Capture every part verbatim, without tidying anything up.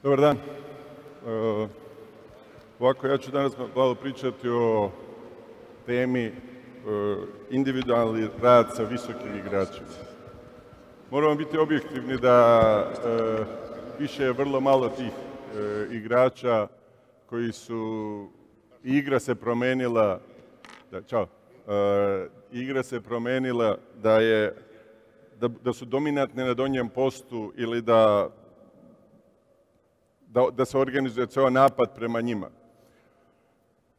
Dobar dan. E, ovako, ja ću danas malo pričati o temi e, individualni rad sa visokim igračima. Moramo biti objektivni da e, više je vrlo malo tih e, igrača koji su... Igra se promenila, da, čao, e, igra se promenila da, je, da, da su dominantne na donjem postu ili da Da, da se organizuje ceo napad prema njima.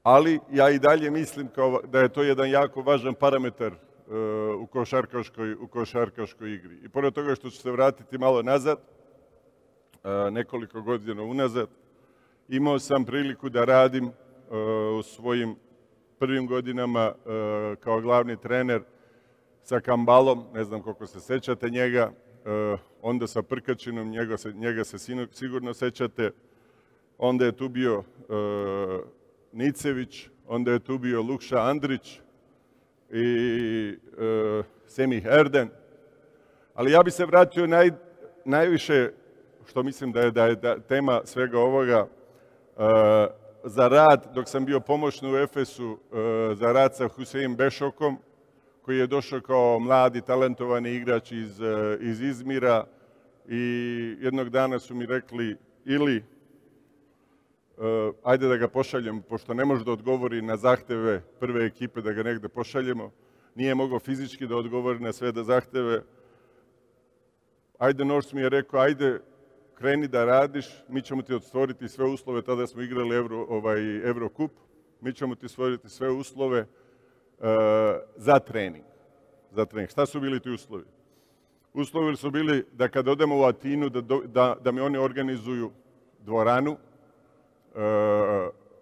Ali ja i dalje mislim kao da je to jedan jako važan parametar uh, u, košarkaškoj, u košarkaškoj igri. I pored toga što ću se vratiti malo nazad, uh, nekoliko godina unazad, imao sam priliku da radim uh, u svojim prvim godinama uh, kao glavni trener sa Kambalom, ne znam koliko se sećate njega, Uh, onda sa Prkačinom, njega se, njega se sigurno sećate, onda je tu bio uh, Nicević, onda je tu bio Lukša Andrić i uh, Semih Erden. Ali ja bih se vratio naj, najviše, što mislim da je, da je da, tema svega ovoga, uh, za rad, dok sam bio pomoćni u Efesu, uh, za rad sa Husein Bešokom, koji je došao kao mladi, talentovani igrač iz, iz Izmira i jednog dana su mi rekli ili uh, ajde da ga pošaljem, pošto ne može da odgovori na zahteve prve ekipe da ga negde pošaljemo, nije mogao fizički da odgovori na sve da zahteve. Ajde, Nors mi je rekao, ajde, kreni da radiš, mi ćemo ti stvoriti sve uslove, tada smo igrali Euro, ovaj, Eurocup, mi ćemo ti stvoriti sve uslove Uh, za trening. Za trening. Šta su bili ti uslovi? Uslovi su bili da kad odemo u Atinu, da, da, da mi oni organizuju dvoranu uh,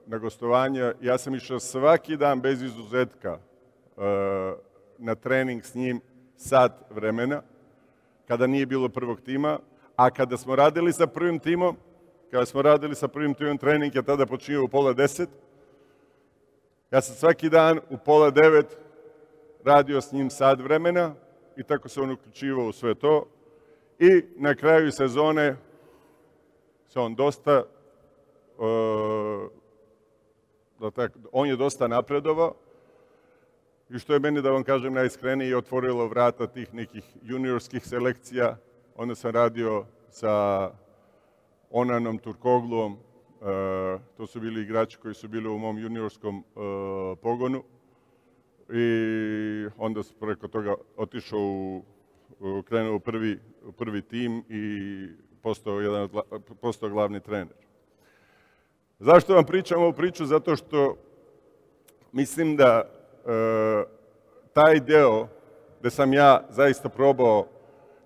na gostovanje. Ja sam išao svaki dan bez izuzetka uh, na trening s njim sat vremena, kada nije bilo prvog tima, a kada smo radili sa prvim timom, kada smo radili sa prvim timom trening, je tada počinio u pola deset. Ja sam svaki dan u pola devet radio s njim sat vremena i tako se on uključivao u sve to. I na kraju sezone se on dosta, uh, da tako, on je dosta napredovao i što je meni, da vam kažem najiskrenije, otvorilo vrata tih nekih juniorskih selekcija. Onda sam radio sa Onanom Turkogluom. Uh, to su bili igrači koji su bili u mom juniorskom uh, pogonu i onda sam preko toga otišao u, u krenuo u prvi, u prvi tim i postao, jedan, postao glavni trener. Zašto vam pričam ovu priču? Zato što mislim da uh, taj deo gde sam ja zaista probao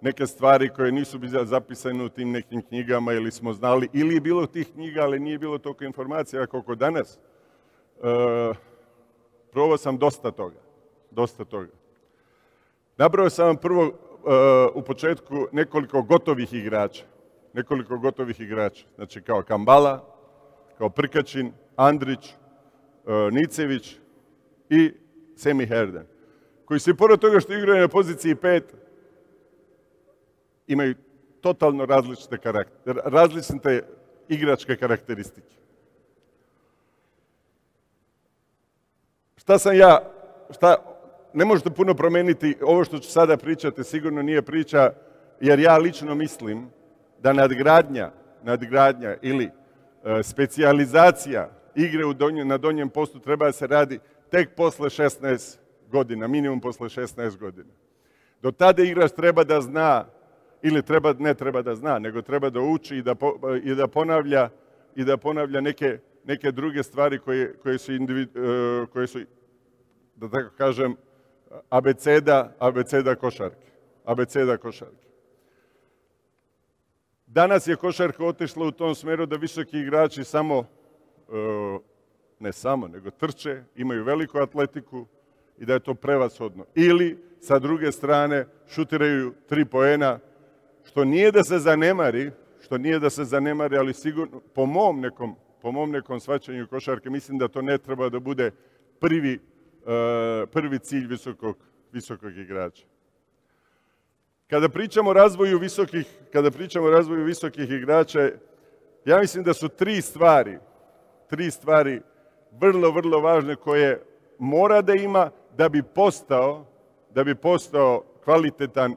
neke stvari koje nisu bile zapisane u tim nekim knjigama ili smo znali, ili je bilo tih knjiga, ali nije bilo toliko informacija koliko danas. E, probao sam dosta toga. Dosta toga. Nabrao sam vam prvo e, u početku nekoliko gotovih igrača. Nekoliko gotovih igrača. Znači kao Kambala, kao Prkačin, Andrić, e, Nicević i Semih Erden. Koji se pored toga što igraju na poziciji pet, imaju totalno različite karakter, različite igračke karakteristike. Šta sam ja, šta, ne možete puno promeniti, ovo što ću sada pričati sigurno nije priča, jer ja lično mislim da nadgradnja, nadgradnja ili e, specijalizacija igre u donje, na donjem postu treba da se radi tek posle šesnaest godina, minimum posle šesnaest godina. Do tada igrač treba da zna, ili treba, ne treba da zna, nego treba da uči i da, po, i da ponavlja, i da ponavlja neke, neke druge stvari koje, koje, su individu, koje su, da tako kažem, abeceda, abeceda košarke. Abeceda košarke. Danas je košarka otišla u tom smeru da visoki igrači samo, ne samo, nego trče, imaju veliku atletiku i da je to prevashodno. Ili, sa druge strane, šutiraju tri poena, što nije da se zanemari, što nije da se zanemari, ali sigurno, po mom nekom, po mom nekom shvaćanju košarke, mislim da to ne treba da bude prvi, uh, prvi cilj visokog, visokog igrača. Kada pričamo o razvoju visokih, kada pričamo o razvoju visokih igrača, ja mislim da su tri stvari, tri stvari vrlo, vrlo važne koje mora da ima da bi postao, da bi postao kvalitetan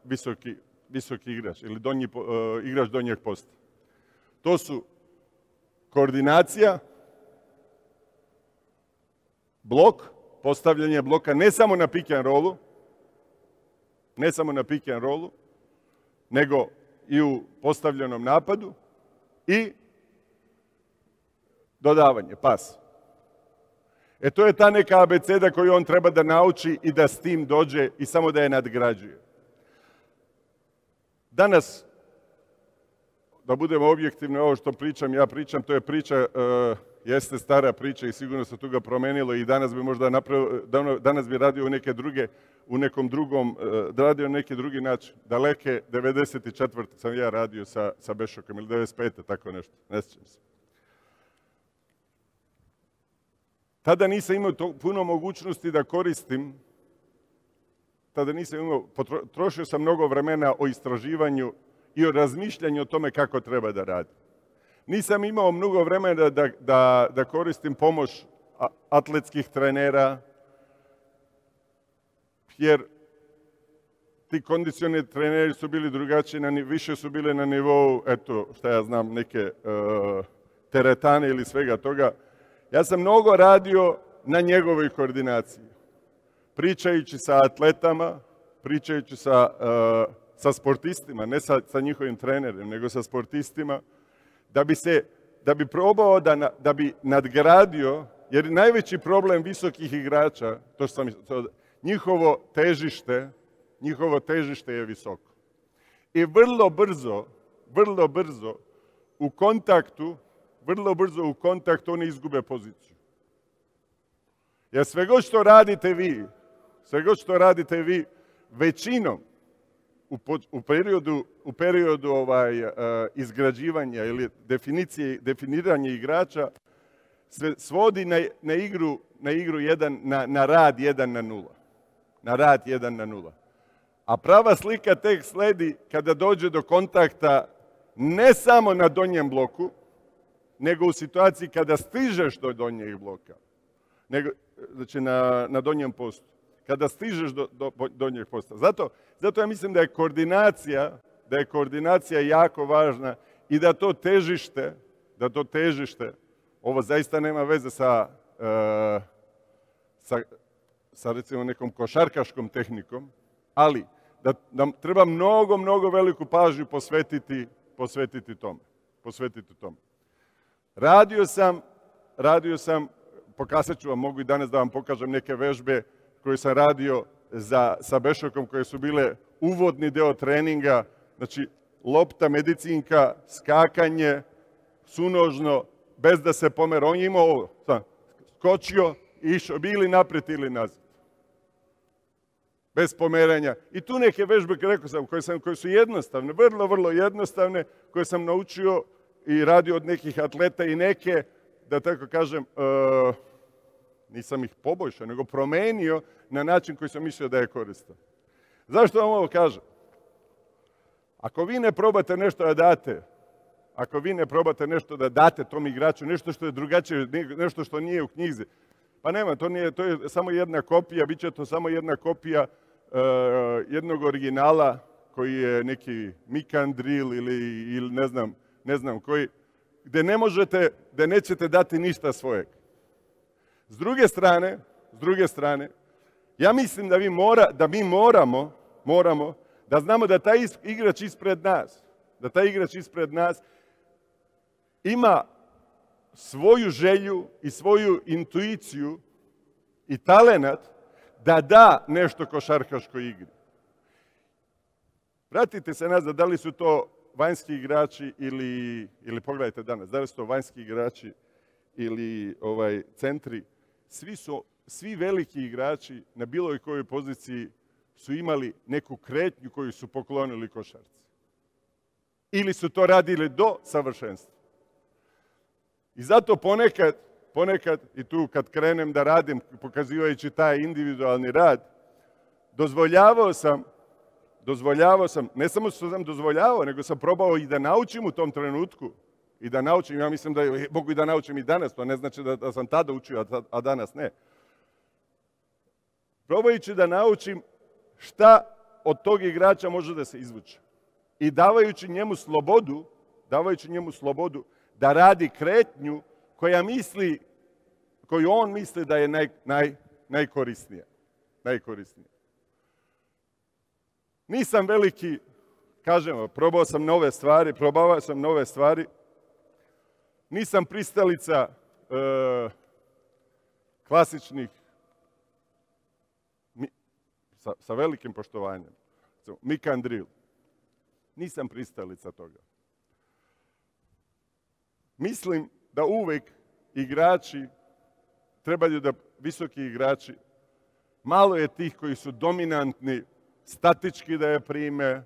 visoki, visoki igrač ili donji, uh, igrač donjeg posta. To su koordinacija, blok, postavljanje bloka ne samo na pick and rollu, ne samo na pick and rollu, nego i u postavljenom napadu i dodavanje, pas. E to je ta neka abeceda koju on treba da nauči i da s tim dođe i samo da je nadgrađuje. Danas, da budemo objektivni, ovo što pričam, ja pričam, to je priča, uh, jeste stara priča i sigurno se tu ga promenilo i danas bi možda napravio, danas bi radio u neke druge, u nekom drugom, uh, radio na neki drugi način. Daleke devedeset četvrte sam ja radio sa, sa Bešokom ili devedeset pete tako nešto, ne sjećam se. Tada nisam imao to, puno mogućnosti da koristim, tada nisam imao, potrošio sam mnogo vremena o istraživanju i o razmišljanju o tome kako treba da radi. Nisam imao mnogo vremena da, da, da koristim pomoć atletskih trenera, jer ti kondicioni treneri su bili drugačiji, na, više su bile na nivou, eto, šta ja znam, neke uh, teretane ili svega toga. Ja sam mnogo radio na njegovoj koordinaciji. Pričajući sa atletama, pričajući sa, uh, sa sportistima, ne sa, sa njihovim trenerima, nego sa sportistima, da bi se, da bi probao da, da bi nadgradio, jer najveći problem visokih igrača, to sam, to, njihovo težište, njihovo težište je visoko. I vrlo brzo, vrlo brzo u kontaktu, vrlo brzo u kontaktu oni izgube poziciju. Jer sve god što radite vi, sve god što radite vi, većinom u, u periodu, u periodu ovaj, uh, izgrađivanja ili definicije, definiranja igrača se svodi na, na igru, na, igru jedan, na, na rad jedan na nula. Na rad jedan na nula. A prava slika tek sledi kada dođe do kontakta ne samo na donjem bloku, nego u situaciji kada stižeš do donjeg bloka, nego, znači na, na donjem postu, kada stižeš do, do donjeg posta. Zato, zato ja mislim da je koordinacija, da je koordinacija jako važna i da to težište, da to težište, ovo zaista nema veze sa, uh, sa, sa recimo nekom košarkaškom tehnikom, ali da, da treba mnogo, mnogo veliku pažnju posvetiti, posvetiti tome. Posvetiti tome. Radio sam, radio sam, pokazat ću vam, mogu i danas da vam pokažem neke vežbe koje sam radio za, sa Bešokom, koje su bile uvodni deo treninga, znači lopta, medicinka, skakanje, sunožno, bez da se pomera. On je imao ovo, sam, skočio i išao, bili naprijed ili nazad. Bez pomeranja. I tu neke vežbe, rekao sam, koje, sam, koje su jednostavne, vrlo, vrlo jednostavne, koje sam naučio i radio od nekih atleta i neke, da tako kažem, uh, nisam ih poboljšao, nego promenio na način koji sam mislio da je koristan. Zašto vam ovo kažem? Ako vi ne probate nešto da date, ako vi ne probate nešto da date tom igraču, nešto što je drugačije, nešto što nije u knjizi, pa nema, to, nije, to je samo jedna kopija, bit će to samo jedna kopija uh, jednog originala koji je neki Mikandril ili, ili ne znam, ne znam koji, gde ne možete, gde nećete dati ništa svojeg. S druge strane, s druge strane, ja mislim da, vi mora, da mi moramo, moramo da znamo da taj igrač ispred nas, da taj igrač ispred nas ima svoju želju i svoju intuiciju i talenat da da nešto košarkaškoj igri. Vratite se nazad, da li su to vanjski igrači ili, ili pogledajte danas, da li su to vanjski igrači ili ovaj, centri, svi, su, svi veliki igrači na bilo kojoj poziciji su imali neku kretnju koju su poklonili košarci. Ili su to radili do savršenstva. I zato ponekad, ponekad, i tu kad krenem da radim, pokazivajući taj individualni rad, dozvoljavao sam, dozvoljavao sam, ne samo što sam dozvoljavao, nego sam probao i da naučim u tom trenutku, i da naučim, ja mislim da mogu i da naučim i danas, to ne znači da, da sam tada učio, a, a danas ne. Probajući da naučim šta od tog igrača može da se izvuče. I davajući njemu slobodu, davajući njemu slobodu da radi kretnju koja misli, koju on misli da je naj, naj, najkorisnija. Najkorisnija. Nisam veliki, kažem, probao sam nove stvari, probavao sam nove stvari. Nisam pristalica e, klasičnih, mi, sa, sa velikim poštovanjem, mic and drill. Nisam pristalica toga. Mislim da uvek igrači, trebaju da visoki igrači, malo je tih koji su dominantni, statički da je prime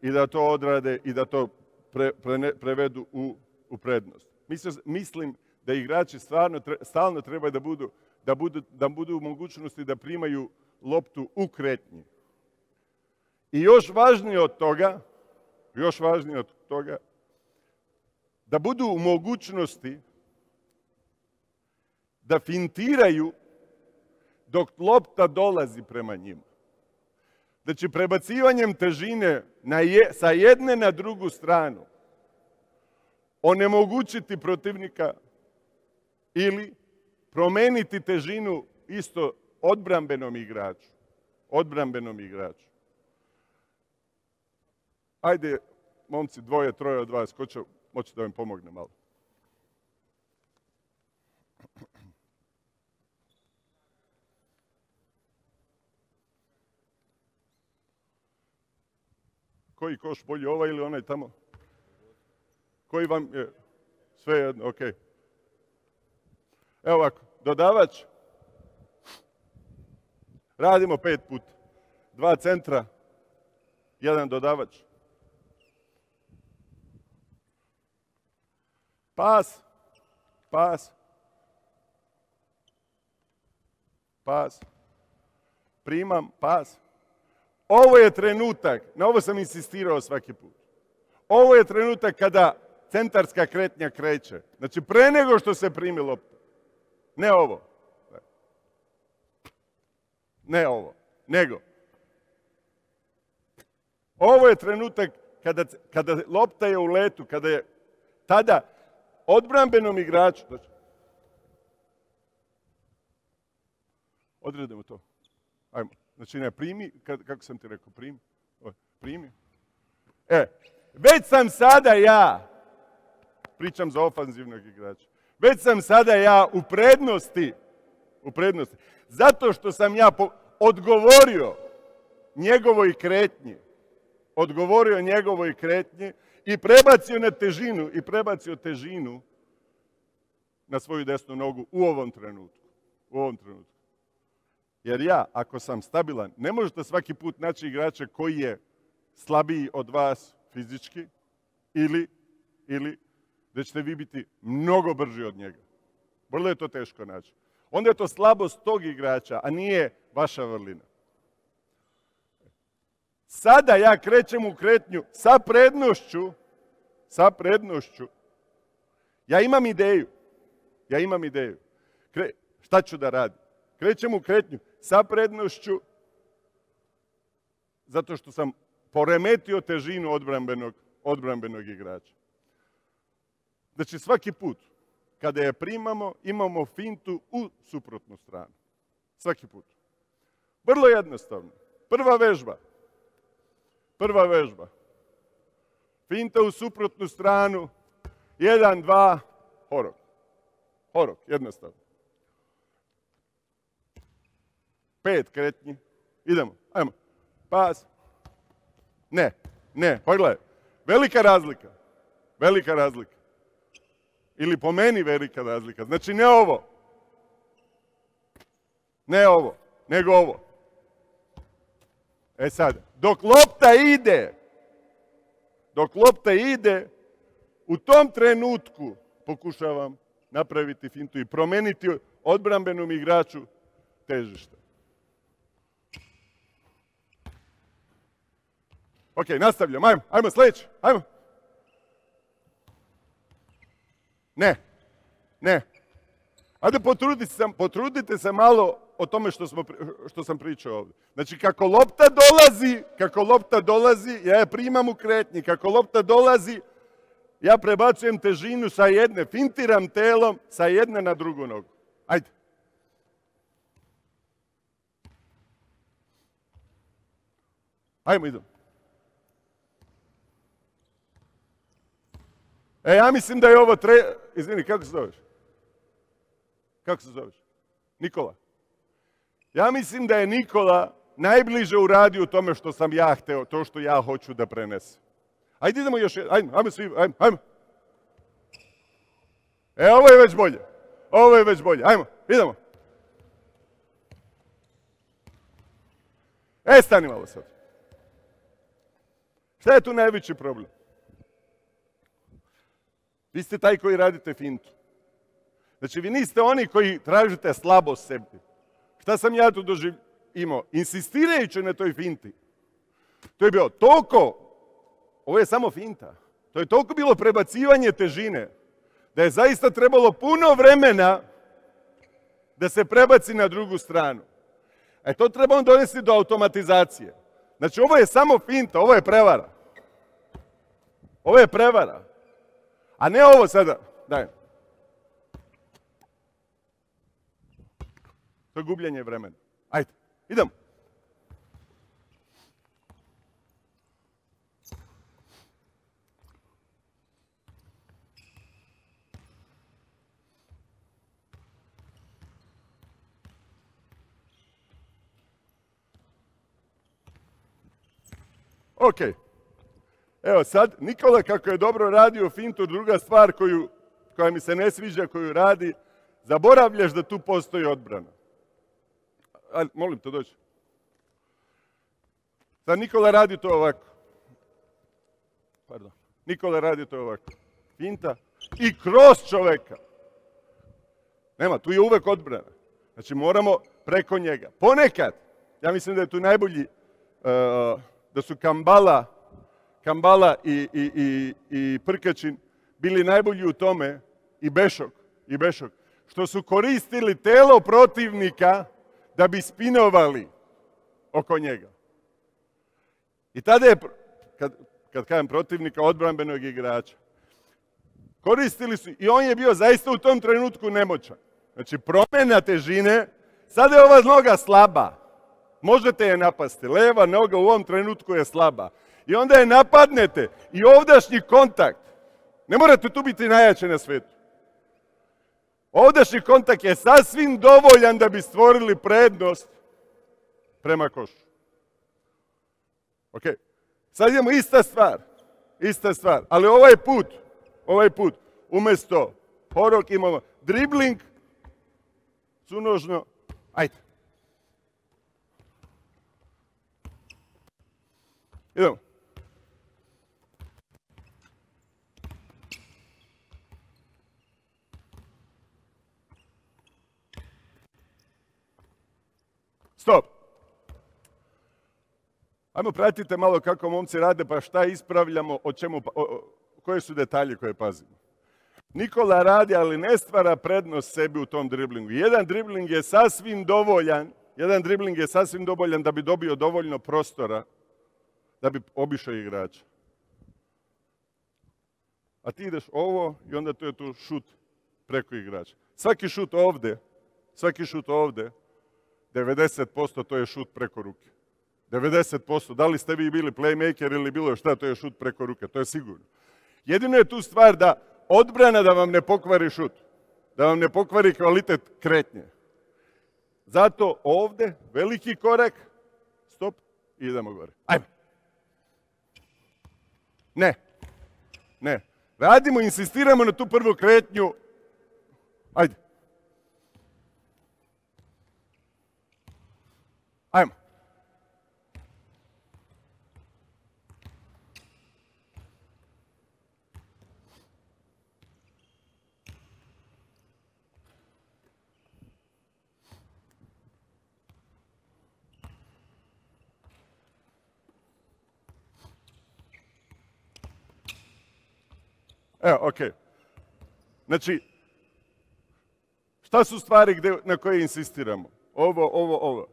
i da to odrade i da to pre, pre, prevedu u, u prednost. Mislim, mislim da igrači stvarno, stalno trebaju da budu, da, budu, da budu u mogućnosti da primaju loptu u kretnji. I još važnije od toga, još važnije od toga, da budu u mogućnosti da fintiraju dok lopta dolazi prema njima. Znači, prebacivanjem težine na je, sa jedne na drugu stranu onemogućiti protivnika ili promeniti težinu isto odbrambenom igraču. Odbrambenom igraču. Ajde, momci, dvoje, troje od vas, ko će moći da vam pomogne malo? Koji koš bolji, ovaj ili onaj tamo? Koji vam je? Sve jedno, ok. Evo ovako, dodavač. Radimo pet puta. Dva centra, jedan dodavač. Pas, pas, pas, primam, pas. Ovo je trenutak, na ovo sam insistirao svaki put. Ovo je trenutak kada centarska kretnja kreće. Znači, pre nego što se primi lopta. Ne ovo. Ne ovo, nego. Ovo je trenutak kada, kada lopta je u letu, kada je tada odbrambenom igraču. Znači, odredimo to. Ajmo. Znači, ne, primi, kako sam ti rekao, primi. Primi. E, već sam sada ja, pričam za ofanzivnog igrača, već sam sada ja u prednosti, u prednosti, zato što sam ja po, odgovorio njegovoj kretnji, odgovorio njegovoj kretnji i prebacio na težinu, i prebacio težinu na svoju desnu nogu u ovom trenutku. U ovom trenutku. Jer ja, ako sam stabilan, ne možete svaki put naći igrača koji je slabiji od vas fizički ili, ili da ćete vi biti mnogo brži od njega. Vrlo je to teško naći. Onda je to slabost tog igrača, a nije vaša vrlina. Sada ja krećem u kretnju sa prednošću, sa prednošću. Ja imam ideju. Ja imam ideju. Kre, šta ću da radim? Krećem u kretnju sa prednošću zato što sam poremetio težinu odbrambenog, odbrambenog igrača. Znači, svaki put kada je primamo, imamo fintu u suprotnu stranu. Svaki put. Vrlo jednostavno. Prva vežba. Prva vežba. Finta u suprotnu stranu. Jedan, dva, horok. Horok, jednostavno. Pet kretnji. Idemo, ajmo. Pas. Ne, ne, pogledaj. Velika razlika. Velika razlika. Ili po meni velika razlika. Znači, ne ovo. Ne ovo, nego ovo. E sad, dok lopta ide, dok lopta ide, u tom trenutku pokušavam napraviti fintu i promeniti odbrambenom igraču težište. Ok, nastavljam. Ajmo, ajmo sljedeći. Ajmo. Ne, ne. Ajde potrudite se, potrudite se malo o tome što, smo, što sam pričao ovdje. Znači kako lopta dolazi, kako lopta dolazi, ja je primam u kretnji, kako lopta dolazi, ja prebacujem težinu sa jedne, fintiram telom sa jedne na drugu nogu. Ajde. Ajmo, idemo. E, ja mislim da je ovo tre... Izvini, kako se zoveš? Kako se zoveš? Nikola. Ja mislim da je Nikola najbliže uradio u tome što sam ja hteo, to što ja hoću da prenesem. Ajde idemo još jedan, ajmo, ajmo svi, ajmo, ajmo. E, ovo je već bolje. Ovo je već bolje, ajmo, idemo. E, stani malo sad. Šta je tu najveći problem? Vi ste taj koji radite fintu. Znači, vi niste oni koji tražite slabost sebi. Šta sam ja tu doživ... imao? Insistirajući na toj finti. To je bilo toliko, ovo je samo finta, to je toliko bilo prebacivanje težine, da je zaista trebalo puno vremena da se prebaci na drugu stranu. E to treba on donesti do automatizacije. Znači, ovo je samo finta, ovo je prevara. Ovo je prevara. A ne ovo sada. Daj. To je gubljenje vremena. Ajde, idemo. Ok. Evo sad, Nikola kako je dobro radio fintu, druga stvar koju, koja mi se ne sviđa, koju radi, zaboravljaš da tu postoji odbrana. Ajde, molim te, dođi. Sad Nikola radi to ovako. Pardon. Nikola radi to ovako. Finta i kroz čoveka. Nema, tu je uvek odbrana. Znači moramo preko njega. Ponekad, ja mislim da je tu najbolji, uh, da su Kambala, Kambala i, i, i, i Prkačin bili najbolji u tome, i Bešok, i Bešok, što su koristili telo protivnika da bi spinovali oko njega. I tada je, kad, kad kažem protivnika, odbrambenog igrača, koristili su, i on je bio zaista u tom trenutku nemoćan. Znači, promjena težine, sada je ova noga slaba. Možete je napasti. Leva noga u ovom trenutku je slaba. I onda je napadnete i ovdašnji kontakt. Ne morate tu biti najjači na svetu. Ovdašnji kontakt je sasvim dovoljan da bi stvorili prednost prema košu. Ok. Sad idemo ista stvar. Ista stvar. Ali ovaj put, ovaj put, umjesto horok imamo dribling, sunožno, ajde. Idemo. Stop. Ajmo pratite malo kako momci rade, pa šta ispravljamo, o čemu, o, o, koje su detalje koje pazimo. Nikola radi, ali ne stvara prednost sebi u tom driblingu. Jedan dribling je sasvim dovoljan, jedan dribling je sasvim dovoljan da bi dobio dovoljno prostora da bi obišao igrača. A ti ideš ovo i onda to je tu šut preko igrača. Svaki šut ovde, svaki šut ovde, devedeset posto to je šut preko ruke. devedeset posto, da li ste vi bili playmaker ili bilo šta, to je šut preko ruke, to je sigurno. Jedino je tu stvar da odbrana da vam ne pokvari šut, da vam ne pokvari kvalitet kretnje. Zato ovde veliki korak, stop, i idemo gore. Ajme. Ne, ne. Radimo, insistiramo na tu prvu kretnju. Ajde. Ajmo. Evo, okej. Znači, šta su stvari gde, na koje insistiramo? Ovo, ovo, ovo.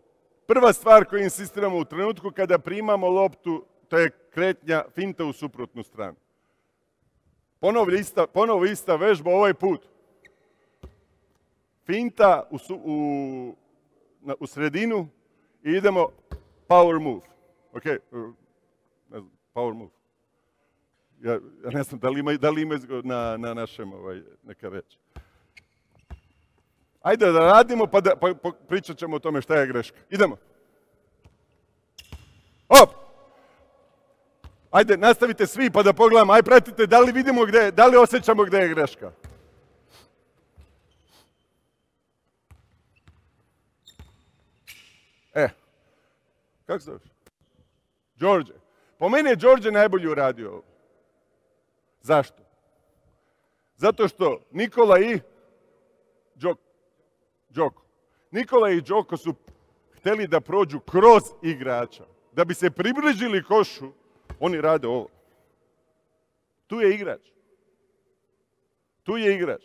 Prva stvar koju insistiramo u trenutku kada primamo loptu, to je kretnja finta u suprotnu stranu. Ponovo ista, ponovo ista vežba ovaj put. Finta u, su, u, na, u sredinu i idemo power move. Ok, ne znam, power move. Ja, ja ne znam da li ima, da li ima na, na našem ovaj, neka reč. Ajde da radimo pa, da, pa, pa pričat ćemo o tome šta je greška. Idemo. Op! Ajde, nastavite svi pa da pogledamo. Ajde, pratite da li vidimo gde, da li osjećamo gde je greška. E, kako se zoveš? Đorđe. Po meni je Đorđe najbolje uradio ovo. Zašto? Zato što Nikola i Đoko, Đoko. Nikola i Đoko su hteli da prođu kroz igrača. Da bi se približili košu, oni rade ovo. Tu je igrač. Tu je igrač.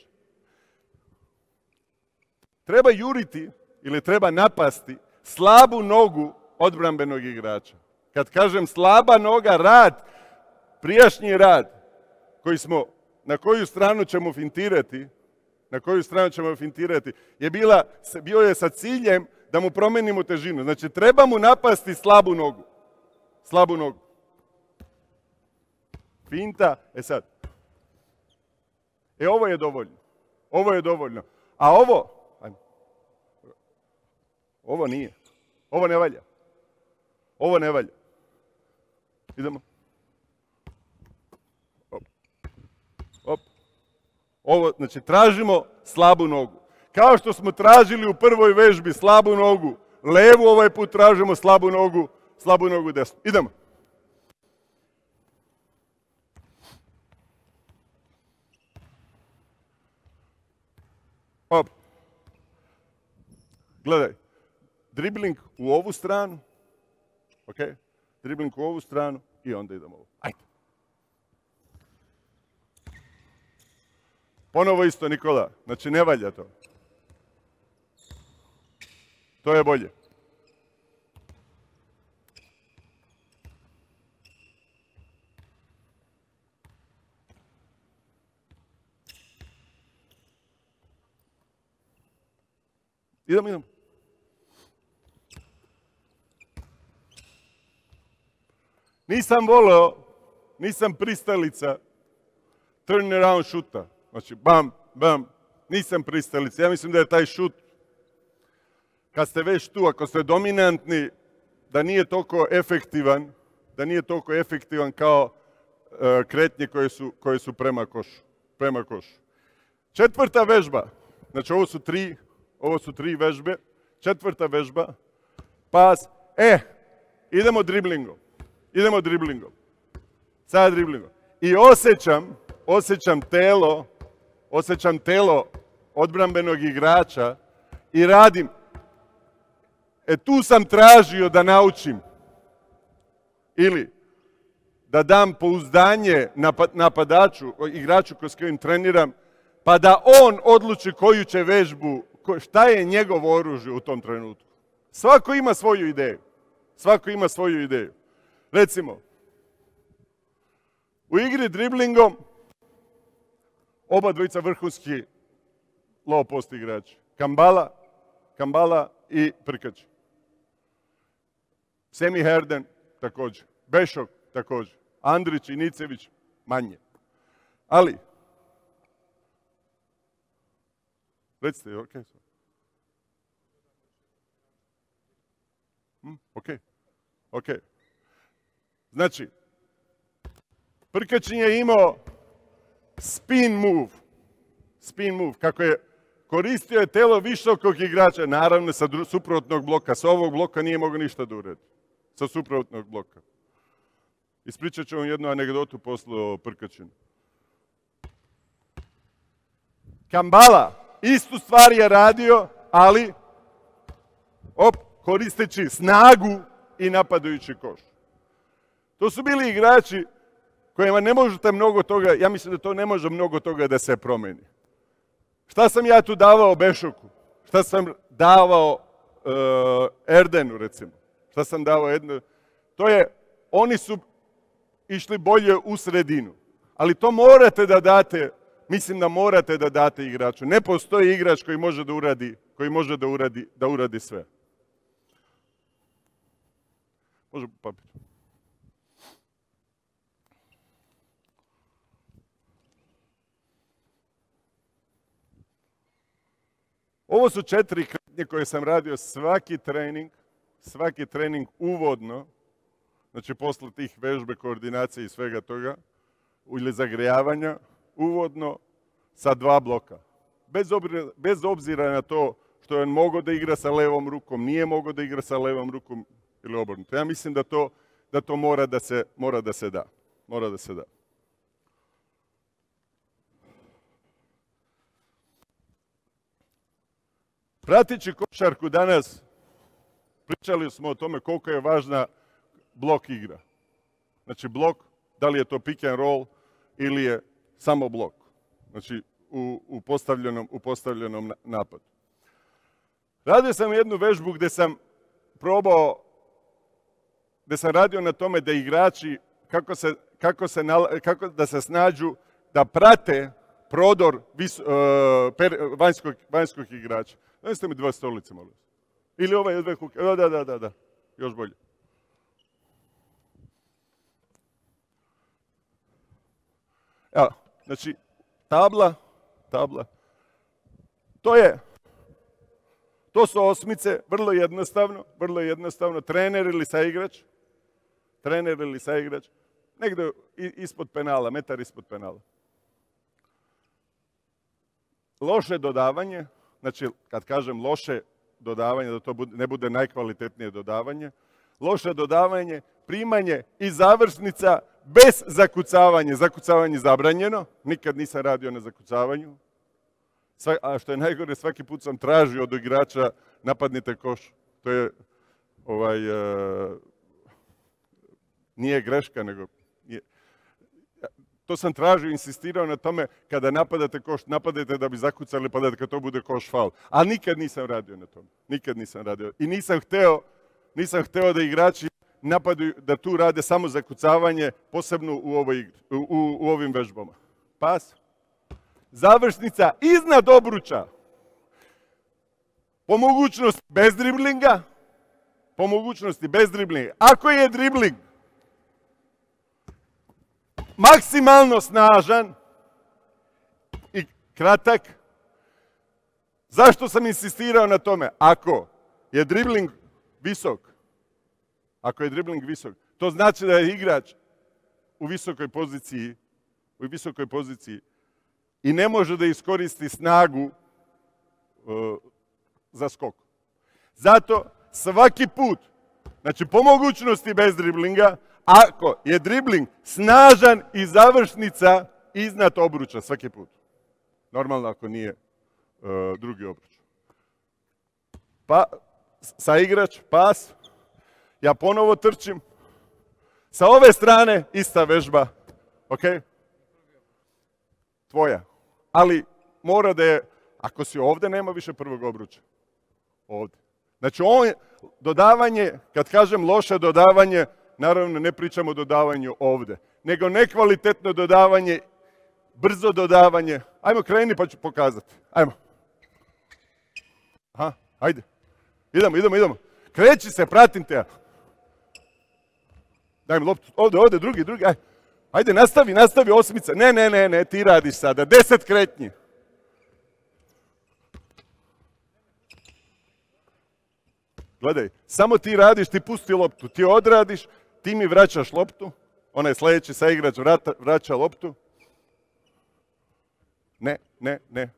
Treba juriti ili treba napasti slabu nogu odbrambenog igrača. Kad kažem slaba noga, rad, prijašnji rad, koji smo, na koju stranu ćemo fintirati, na koju stranu ćemo fintirati, je bila, bio je sa ciljem da mu promenimo težinu. Znači, treba mu napasti slabu nogu. Slabu nogu. Finta, e sad. E, ovo je dovoljno. Ovo je dovoljno. A ovo, ajmo. Ovo nije. Ovo ne valja. Ovo ne valja. Idemo. Op. Op. Ovo, znači, tražimo slabu nogu. Kao što smo tražili u prvoj vežbi slabu nogu levu, ovaj put tražimo slabu nogu, slabu nogu desnu. Idemo. Op. Gledaj. Dribling u ovu stranu. Ok? Dribling u ovu stranu i onda idemo ovo. Ajde. Ponovo isto, Nikola. Znači, ne valja to. To je bolje. Idemo, idemo. Nisam voleo, nisam pristalica turn around šuta. Znači, bam, bam, nisam pristalica. Ja mislim da je taj šut, kad ste već tu, ako ste dominantni, da nije toliko efektivan, da nije toliko efektivan kao uh, kretnje koje su, koje su prema košu. Prema košu. Četvrta vežba, znači ovo su tri, ovo su tri vežbe. Četvrta vežba, pas, e, idemo driblingom. Idemo driblingom. Sada driblingom. I osjećam, osjećam telo, osjećam telo odbrambenog igrača i radim. E tu sam tražio da naučim. Ili da dam pouzdanje napadaču, igraču s kojim treniram, pa da on odluči koju će vežbu, šta je njegovo oružje u tom trenutku. Svako ima svoju ideju. Svako ima svoju ideju. Recimo, u igri driblingom oba dvojica vrhunski low post igrači. Kambala, Kambala i Prkač. Semi Herden također. Bešok također. Andrić i Nicević manje. Ali, recite, ok. Hm, ok, ok. Znači, Prkačin je imao spin move. Spin move. Kako je koristio je telo visokog igrača, naravno sa suprotnog bloka. Sa ovog bloka nije mogao ništa da uredi. Sa suprotnog bloka. Ispričat ću vam jednu anegdotu posle o Prkačinu. Kambala istu stvar je radio, ali op, koristeći snagu i napadajući koš. To su bili igrači kojima ne možete mnogo toga, ja mislim da to ne može mnogo toga da se promeni. Šta sam ja tu davao Bešoku? Šta sam davao uh, Erdenu, recimo? Šta sam davao jedno? To je, oni su išli bolje u sredinu. Ali to morate da date, mislim da morate da date igraču. Ne postoji igrač koji može da uradi, koji može da uradi, da uradi sve. Može papir. Ovo su četiri kretnje koje sam radio svaki trening, svaki trening uvodno, znači posle tih vežbe, koordinacije i svega toga, ili zagrejavanja, uvodno sa dva bloka. Bez obzira, bez obzira na to što je on mogao da igra sa levom rukom, nije mogao da igra sa levom rukom ili obrnuto. Ja mislim da to, da to mora, da se, mora da se da. Mora da se da. Pratići košarku danas, pričali smo o tome koliko je važna blok igra. Znači blok, da li je to pick and roll ili je samo blok. Znači u, u, postavljenom, u postavljenom napadu. Radio sam jednu vežbu gdje sam probao, gdje sam radio na tome da igrači, kako, se, kako, se, kako da se snađu, da prate prodor vis, uh, per, vanjskog, vanjskog igrača. Dajte mi dva stolice, molim. Ili ovaj dve kuke. Da, da, da, da. Još bolje. Evo, znači, tabla, tabla. To je, to su osmice, vrlo jednostavno, vrlo jednostavno. Trener ili saigrač, trener ili saigrač, negdje ispod penala, metar ispod penala. Loše dodavanje, znači, kad kažem loše dodavanje, da to bude, ne bude najkvalitetnije dodavanje, loše dodavanje, primanje i završnica bez zakucavanja. Zakucavanje zabranjeno, nikad nisam radio na zakucavanju. Sva, a što je najgore, svaki put sam tražio od igrača napadnite koš. To je, ovaj, uh, nije greška, nego... Je, to sam tražio, insistirao na tome, kada napadate koš, napadajte da bi zakucali, pa da kad to bude koš faul. Ali nikad nisam radio na tome. Nikad nisam radio. I nisam hteo, nisam hteo da igrači napadaju, da tu rade samo zakucavanje, posebno u, ovoj igri, u, u, u ovim vežbama. Pas. Završnica iznad obruča. Po mogućnosti bez driblinga. Po mogućnosti bez driblinga. Ako je dribling maksimalno snažan i kratak, zašto sam insistirao na tome? Ako je dribling visok, ako je dribling visok, to znači da je igrač u visokoj poziciji, u visokoj poziciji i ne može da iskoristi snagu uh, za skok. Zato svaki put, znači po mogućnosti bez driblinga, ako je dribling snažan i završnica iznad obruča svaki put. Normalno ako nije uh, drugi obruč. Pa, saigrač, pas, ja ponovo trčim. Sa ove strane ista vežba, ok? Tvoja. Ali mora da je, ako si ovdje, nema više prvog obruča. Ovdje. Znači, on, dodavanje, kad kažem loše dodavanje, naravno ne pričamo o dodavanju ovdje, nego nekvalitetno dodavanje, brzo dodavanje. Ajmo, kreni pa ću pokazati. Ajmo. Aha, ajde. Idemo, idemo, idemo. Kreći se, pratim te. Daj mi loptu. Ovdje, ovdje, drugi, drugi. Ajde. Ajde, nastavi, nastavi osmica. Ne, ne, ne, ne, ti radiš sada. Deset kretnji. Gledaj, samo ti radiš, ti pusti loptu. Ti odradiš, ti mi vraćaš loptu. Onaj sljedeći saigrač vraća loptu. Ne, ne, ne.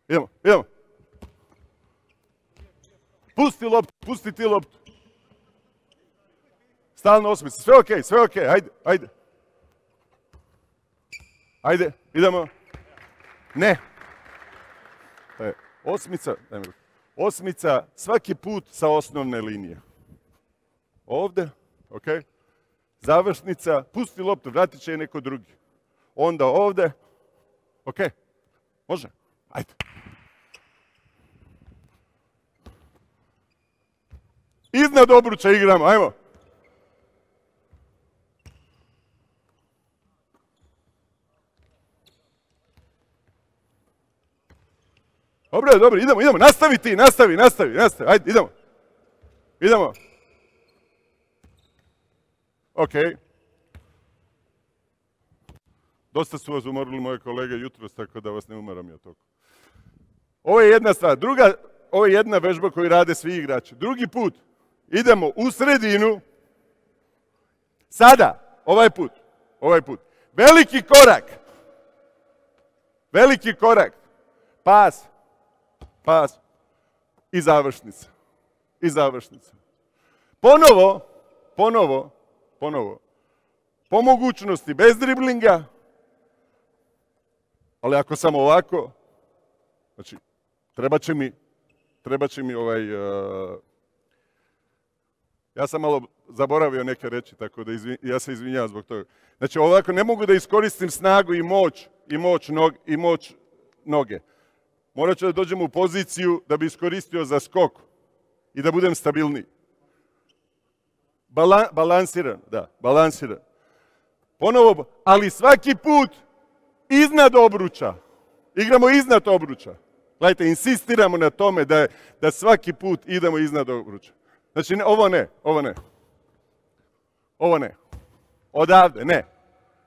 Idemo, idemo. Pusti loptu, pusti ti loptu. Stalno osmica. Sve okej, sve okej. Ajde, ajde. Ajde, idemo. Ne. E, osmica, daj mi ruku. Osmica svaki put sa osnovne linije. Ovdje, ok. Završnica, pusti loptu, vratit će je neko drugi. Onda ovdje, ok. Može? Ajde. Iznad obruča igramo, ajmo. Dobro, dobro, idemo, idemo, nastavi ti, nastavi, nastavi, nastavi, ajde, idemo. Idemo. Ok. Dosta su vas umorili moje kolege jutros, tako da vas ne umaram ja toliko. Ovo je jedna stvar. Druga, ovo je jedna vežba koju rade svi igrači. Drugi put, idemo u sredinu. Sada, ovaj put, ovaj put. Veliki korak. Veliki korak. Pas. Pas. I završnica. I završnica. Ponovo, ponovo, ponovo. Po mogućnosti bez driblinga. Ali ako sam ovako, znači, treba će mi, treba će mi ovaj, uh, ja sam malo zaboravio neke reći, tako da izvin, ja se izvinjavam zbog toga. Znači, ovako ne mogu da iskoristim snagu i moć, i moć, nog, i moć noge. Morat ću da dođem u poziciju da bi iskoristio za skok i da budem stabilniji. Bala, balansiran, da, balansiran. Ponovo, ali svaki put iznad obruča. Igramo iznad obruča. Gledajte, insistiramo na tome da, je, da svaki put idemo iznad obruča. Znači, ne, ovo ne, ovo ne. Ovo ne. Odavde, ne.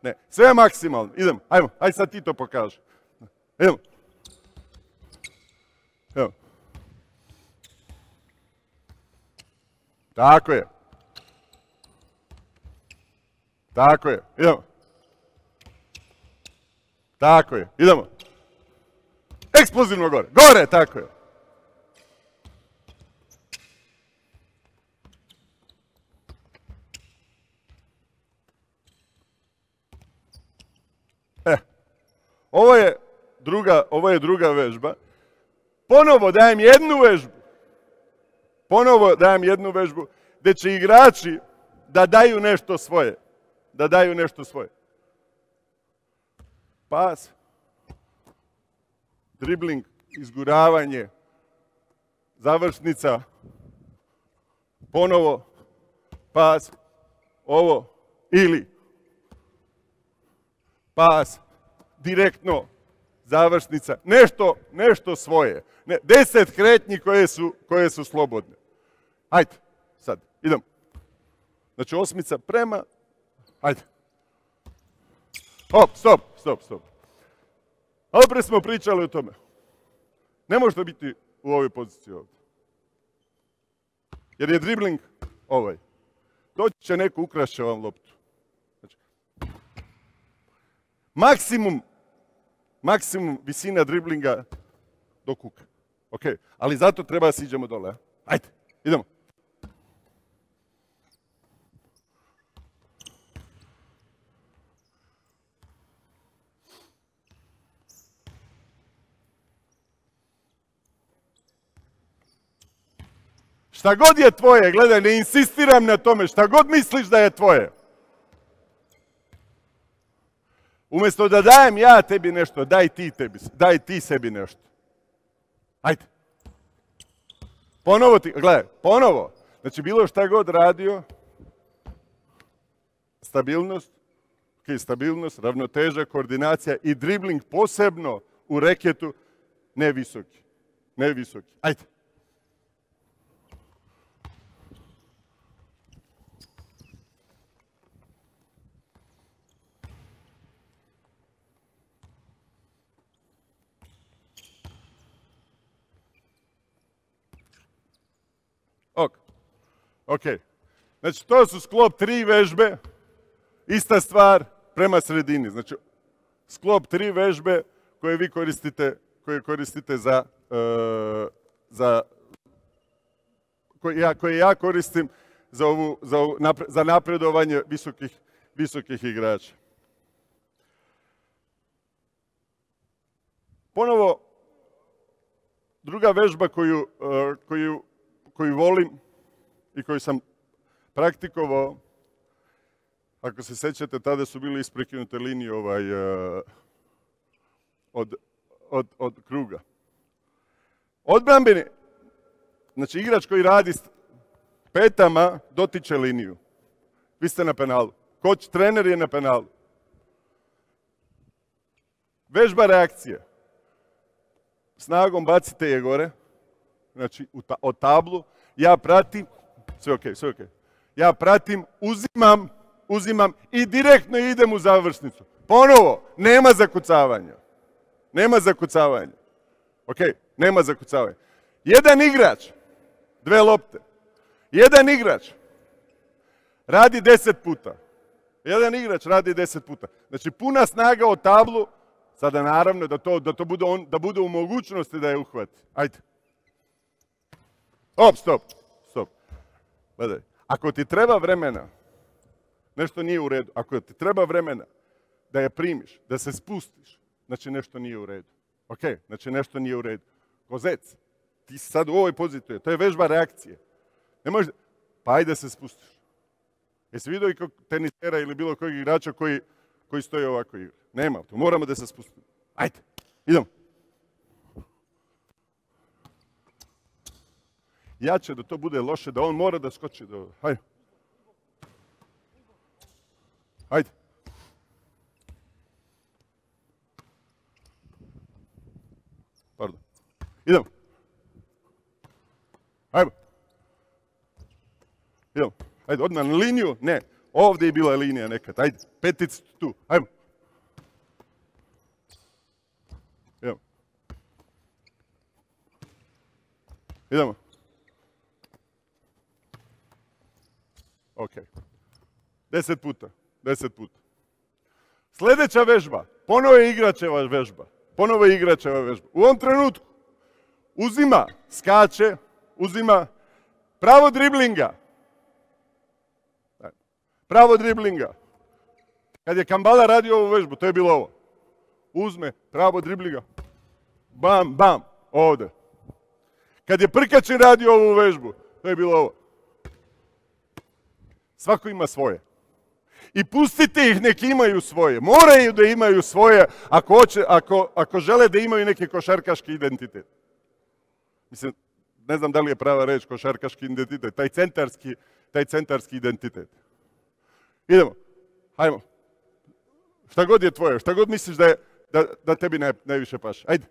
Ne. Sve maksimalno. Idemo, ajmo, ajde sad ti to pokaži. Idemo. Evo. Tako je. Tako je. Idemo. Tako je. Idemo. Eksplozivno gore. Gore, tako je. E. Ovo je druga, ovo je druga vežba. Ponovo dajem jednu vežbu. Ponovo dajem jednu vežbu gdje će igrači da daju nešto svoje. Da daju nešto svoje. Pas. Dribling, izguravanje, završnica, ponovo, pas, ovo, ili pas, direktno, završnica, nešto, nešto svoje. Ne, deset kretnji koje su, koje su slobodne. Hajde, sad, idemo. Znači osmica prema, hajde. Hop, stop, stop, stop. Ali pre smo pričali o tome. Ne možete biti u ovoj poziciji ovdje. Jer je dribling ovaj. Doći će neko, ukrašće vam loptu. Znači, maksimum, maksimum visina driblinga do kuka. Ok, ali zato treba da siđemo dole. Ajde, idemo. Šta god je tvoje, gledaj, ne insistiram na tome, šta god misliš da je tvoje. Umjesto da dajem ja tebi nešto, daj ti, tebi, daj ti sebi nešto. Ajde. Ponovo ti, gledaj, ponovo. Znači, bilo šta god radio, stabilnost, okay, stabilnost, ravnoteža, koordinacija i dribling posebno u reketu, ne visoki. Ne visoki. Ajde. Ok. Ok. Znači, to su sklop tri vežbe, ista stvar prema sredini. Znači, sklop tri vežbe koje vi koristite, koje koristite za, uh, za koje, ja, koje ja koristim za, ovu, za, ovu, napre, za napredovanje visokih, visokih igrača. Ponovo, druga vežba koju, uh, koju koju volim i koju sam praktikovao, ako se sećate, tada su bili isprekinute linije ovaj, uh, od, od, od kruga. Odbrambeni, znači igrač koji radi petama dotiče liniju. Vi ste na penalu. Koč, trener je na penalu. Vežba reakcije. Snagom bacite je gore, znači ta, od tablu. Ja pratim, sve ok, sve ok. Ja pratim, uzimam, uzimam i direktno idem u završnicu. Ponovo, nema zakucavanja. Nema zakucavanja. Ok, nema zakucavanja. Jedan igrač, dve lopte. Jedan igrač radi deset puta. Jedan igrač radi deset puta. Znači puna snaga od tablu, sada naravno da to, da to bude, on, da bude u mogućnosti da je uhvati. Ajde. Op, stop, stop. Gledaj, ako ti treba vremena, nešto nije u redu. Ako ti treba vremena da je primiš, da se spustiš, znači nešto nije u redu. Ok, znači nešto nije u redu. Kozec, ti si sad u ovoj poziciji, to je vežba reakcije. Ne možeš, pa ajde se spustiš. Jesi vidio i kog tenisera ili bilo kojeg igrača koji, koji stoji ovako igra? Nema, to moramo da se spustimo. Ajde, idemo. Jače da to bude loše, da on mora da skoči do... Hajde. Hajde. Pardon. Idemo. Hajde. Idemo. Hajde, odmah na liniju. Ne, ovdje je bila linija nekad. Hajde, peticu tu. Hajde. Idemo. Idemo. Ok. Deset puta. Deset puta. Sljedeća vežba. Ponovo je igračeva vežba. Ponovo je igračeva vežba. U ovom trenutku uzima, skače, uzima pravo driblinga. Pravo driblinga. Kad je Kambala radio ovu vežbu, to je bilo ovo. Uzme pravo driblinga. Bam, bam, ovdje. Kad je Prkačin radio ovu vežbu, to je bilo ovo. Svako ima svoje. I pustite ih, nek imaju svoje. Moraju da imaju svoje ako, hoće, ako, ako žele da imaju neki košarkaški identitet. Mislim, ne znam da li je prava reč košarkaški identitet. Taj centarski, taj centarski identitet. Idemo. Hajmo. Šta god je tvoje, šta god misliš da, je, da, da tebi ne, najviše paše. Ajde.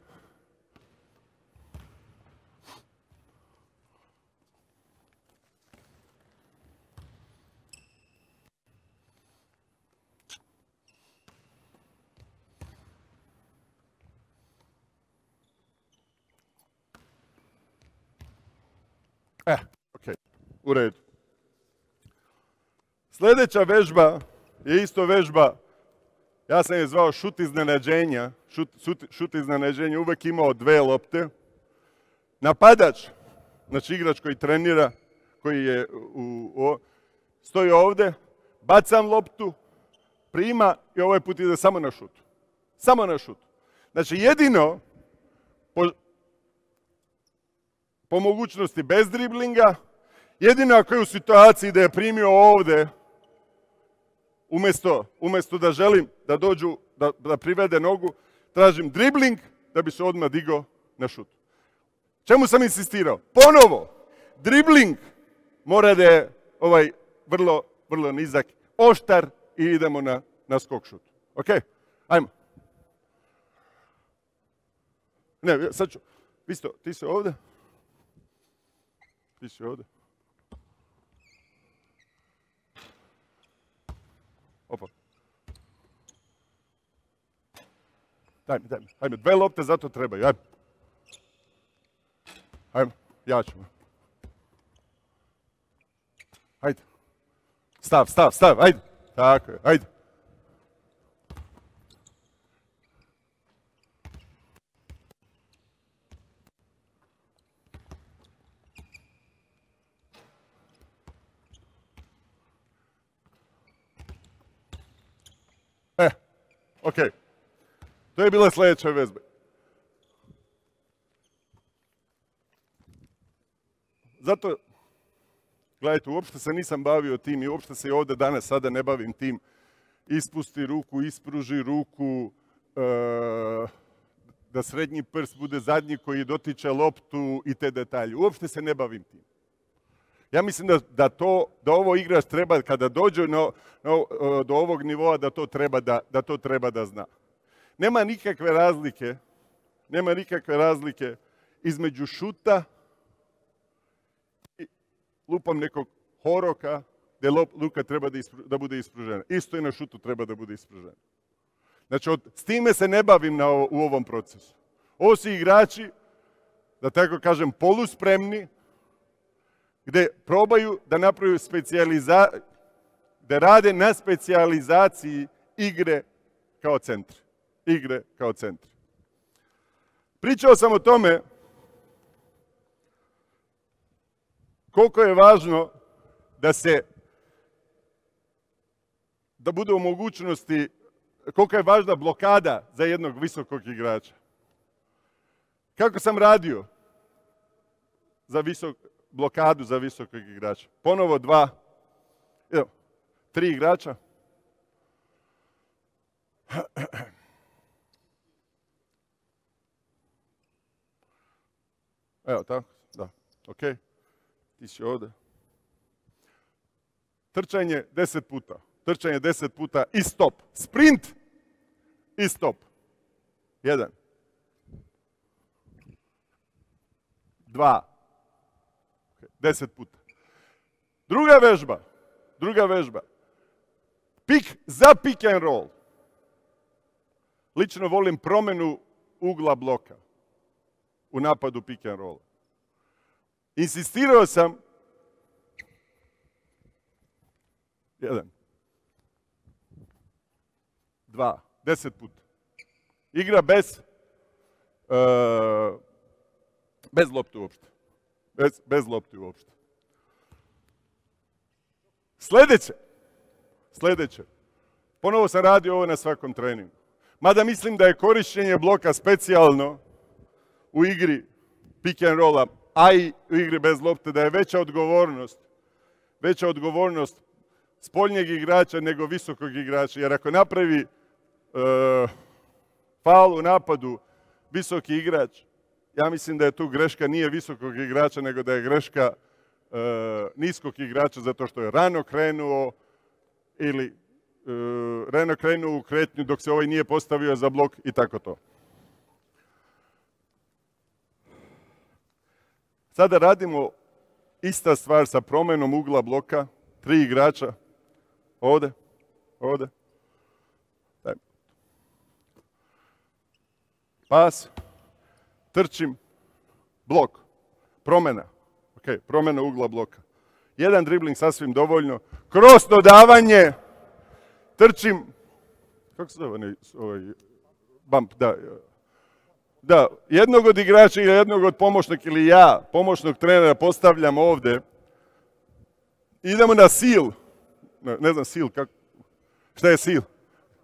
E, ok, u redu. Sljedeća vežba je isto vežba, ja sam je zvao šut iznenađenja, šut, šut, šut iznenađenja, uvek imao dve lopte. Napadač, znači igrač koji trenira, koji je u, u, stoji ovdje, bacam loptu, prima i ovaj put ide samo na šut. Samo na šut. Znači jedino, po, po mogućnosti bez driblinga, jedino ako je u situaciji da je primio ovdje, umjesto, umjesto da želim da dođu, da, da privede nogu, tražim dribling da bi se odmah digao na šut. Čemu sam insistirao? Ponovo, dribling mora da je ovaj vrlo, vrlo nizak, oštar i idemo na, na skok šut. Ok? Ajmo. Ne, sad ću. Visto, ti si ovdje? Ti si ovdje? Opa. Daj mi, daj mi. Hajme, dve lopte zato trebaju. Hajme. Hajme, ja ću. Hajde. Stav, stav, stav, hajde. Tako je, hajde. E, ok. To je bila sljedeća vežba. Zato, gledajte, uopšte se nisam bavio tim i uopšte se i ovdje danas sada ne bavim tim. Ispusti ruku, ispruži ruku, e, da srednji prst bude zadnji koji dotiče loptu i te detalje. Uopšte se ne bavim tim. Ja mislim da, da, to, da ovo igrač treba, kada dođe na, na, do ovog nivoa, da to, treba da, da to treba da zna. Nema nikakve razlike, nema nikakve razlike između šuta i lupam nekog horoka, gdje luka treba da, ispru, da bude ispružena. Isto i na šutu treba da bude ispružena. Znači, od, s time se ne bavim na, u ovom procesu. Ovo su igrači, da tako kažem, poluspremni, gdje probaju da napravaju specijalizaciju, gdje rade na specijalizaciji igre kao centri. Igre kao centri. Pričao sam o tome koliko je važno da se, da bude u mogućnosti, koliko je važna blokada za jednog visokog igrača. Kako sam radio za visok, blokadu za visokog igrača? Ponovo dva, evo, tri igrača. Evo tako, da, ok. Ti si ovdje. Trčanje deset puta. Trčanje deset puta i stop. Sprint i stop. Jedan. Dva. Deset puta. Druga vežba. Druga vežba. Pik za pick and roll. Lično volim promjenu ugla bloka u napadu pick and roll. Insistirao sam jedan, dva, deset puta. Igra bez uh, bez lopte uopšte. Bez, bez lopte uopšte. Sljedeće. Sljedeće. Ponovo sam radio ovo na svakom treningu. Mada mislim da je korištenje bloka specijalno u igri pick and rolla, a i u igri bez lopte, da je veća odgovornost, veća odgovornost spoljnjeg igrača nego visokog igrača. Jer ako napravi uh, faul u napadu visoki igrač, ja mislim da je tu greška nije visokog igrača, nego da je greška uh, niskog igrača zato što je rano krenuo ili uh, rano krenuo u kretnju dok se ovaj nije postavio za blok i tako to. Sada radimo ista stvar sa promjenom ugla bloka, tri igrača, ovdje, ovdje. Pas, trčim, blok, promjena, ok, promjena ugla bloka. Jedan dribling sasvim dovoljno, kroz dodavanje, trčim, kako se zove ovaj bump, da, da, jednog od igrača ili jednog od pomoćnika ili ja, pomoćnog trenera, postavljam ovdje. Idemo na seal. Ne, ne znam seal, kako, šta je seal?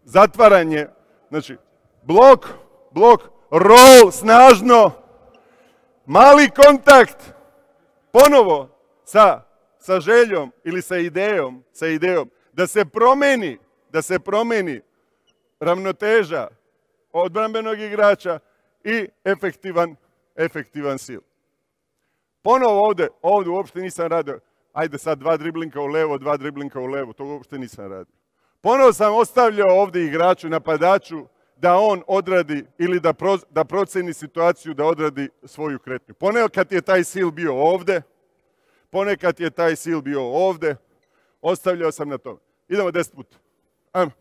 Zatvaranje, znači blok, blok, roll, snažno, mali kontakt, ponovo sa, sa željom ili sa idejom, sa idejom da se promeni, da se promeni ravnoteža odbrambenog igrača i efektivan, efektivan sil. Ponovo ovdje, ovdje uopšte nisam radio, ajde sad dva driblinka u levo, dva driblinka u levo, to uopšte nisam radio. Ponovo sam ostavljao ovdje igraču, napadaču, da on odradi ili da, pro, da proceni situaciju, da odradi svoju kretnju. Ponekad je taj sil bio ovdje, ponekad je taj sil bio ovdje, ostavljao sam na tome. Idemo deset puta. Ajmo.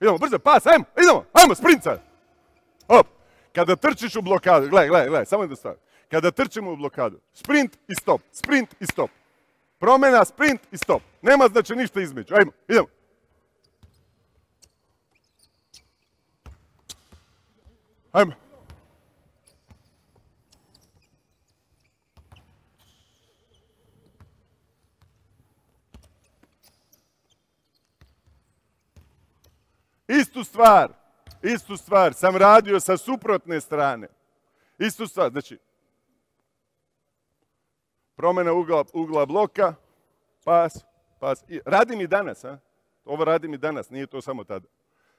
Idemo, brzo, pas, ajmo, idemo, ajmo, sprint sad. Hop. Kada trčiš u blokadu, gledaj, gledaj, gledaj, samo da stavim. Kada trčimo u blokadu, sprint i stop, sprint i stop. Promjena, sprint i stop. Nema znači ništa između. Ajmo, idemo. Ajmo. Istu stvar, istu stvar sam radio sa suprotne strane. Istu stvar, znači, promjena ugla, ugla bloka, pas, pas. pas. I radim i danas, a? Ovo radim i danas, nije to samo tada.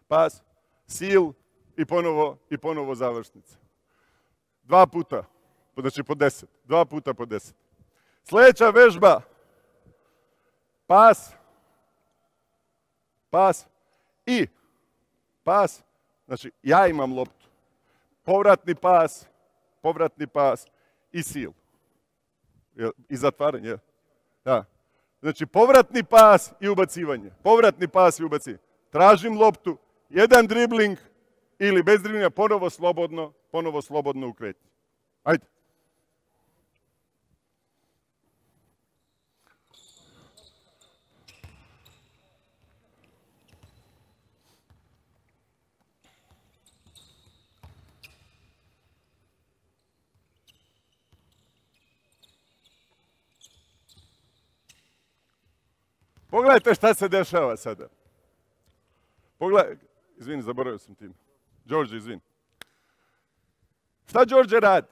Pas, seal i ponovo, i ponovo završnica. Dva puta, znači po deset. Dva puta po deset. Sljedeća vežba. Pas, pas i pas. Znači, ja imam loptu. Povratni pas, povratni pas i seal. I zatvaranje. Da. Znači, povratni pas i ubacivanje. Povratni pas i ubacivanje. Tražim loptu, jedan dribling ili bez driblinga, ponovo slobodno, ponovo slobodno u kretnji. Ajde. Pogledajte šta se dešava sada. Pogledaj, izvini, zaboravio sam tim. Đorđe, izvini. Šta Đorđe radi?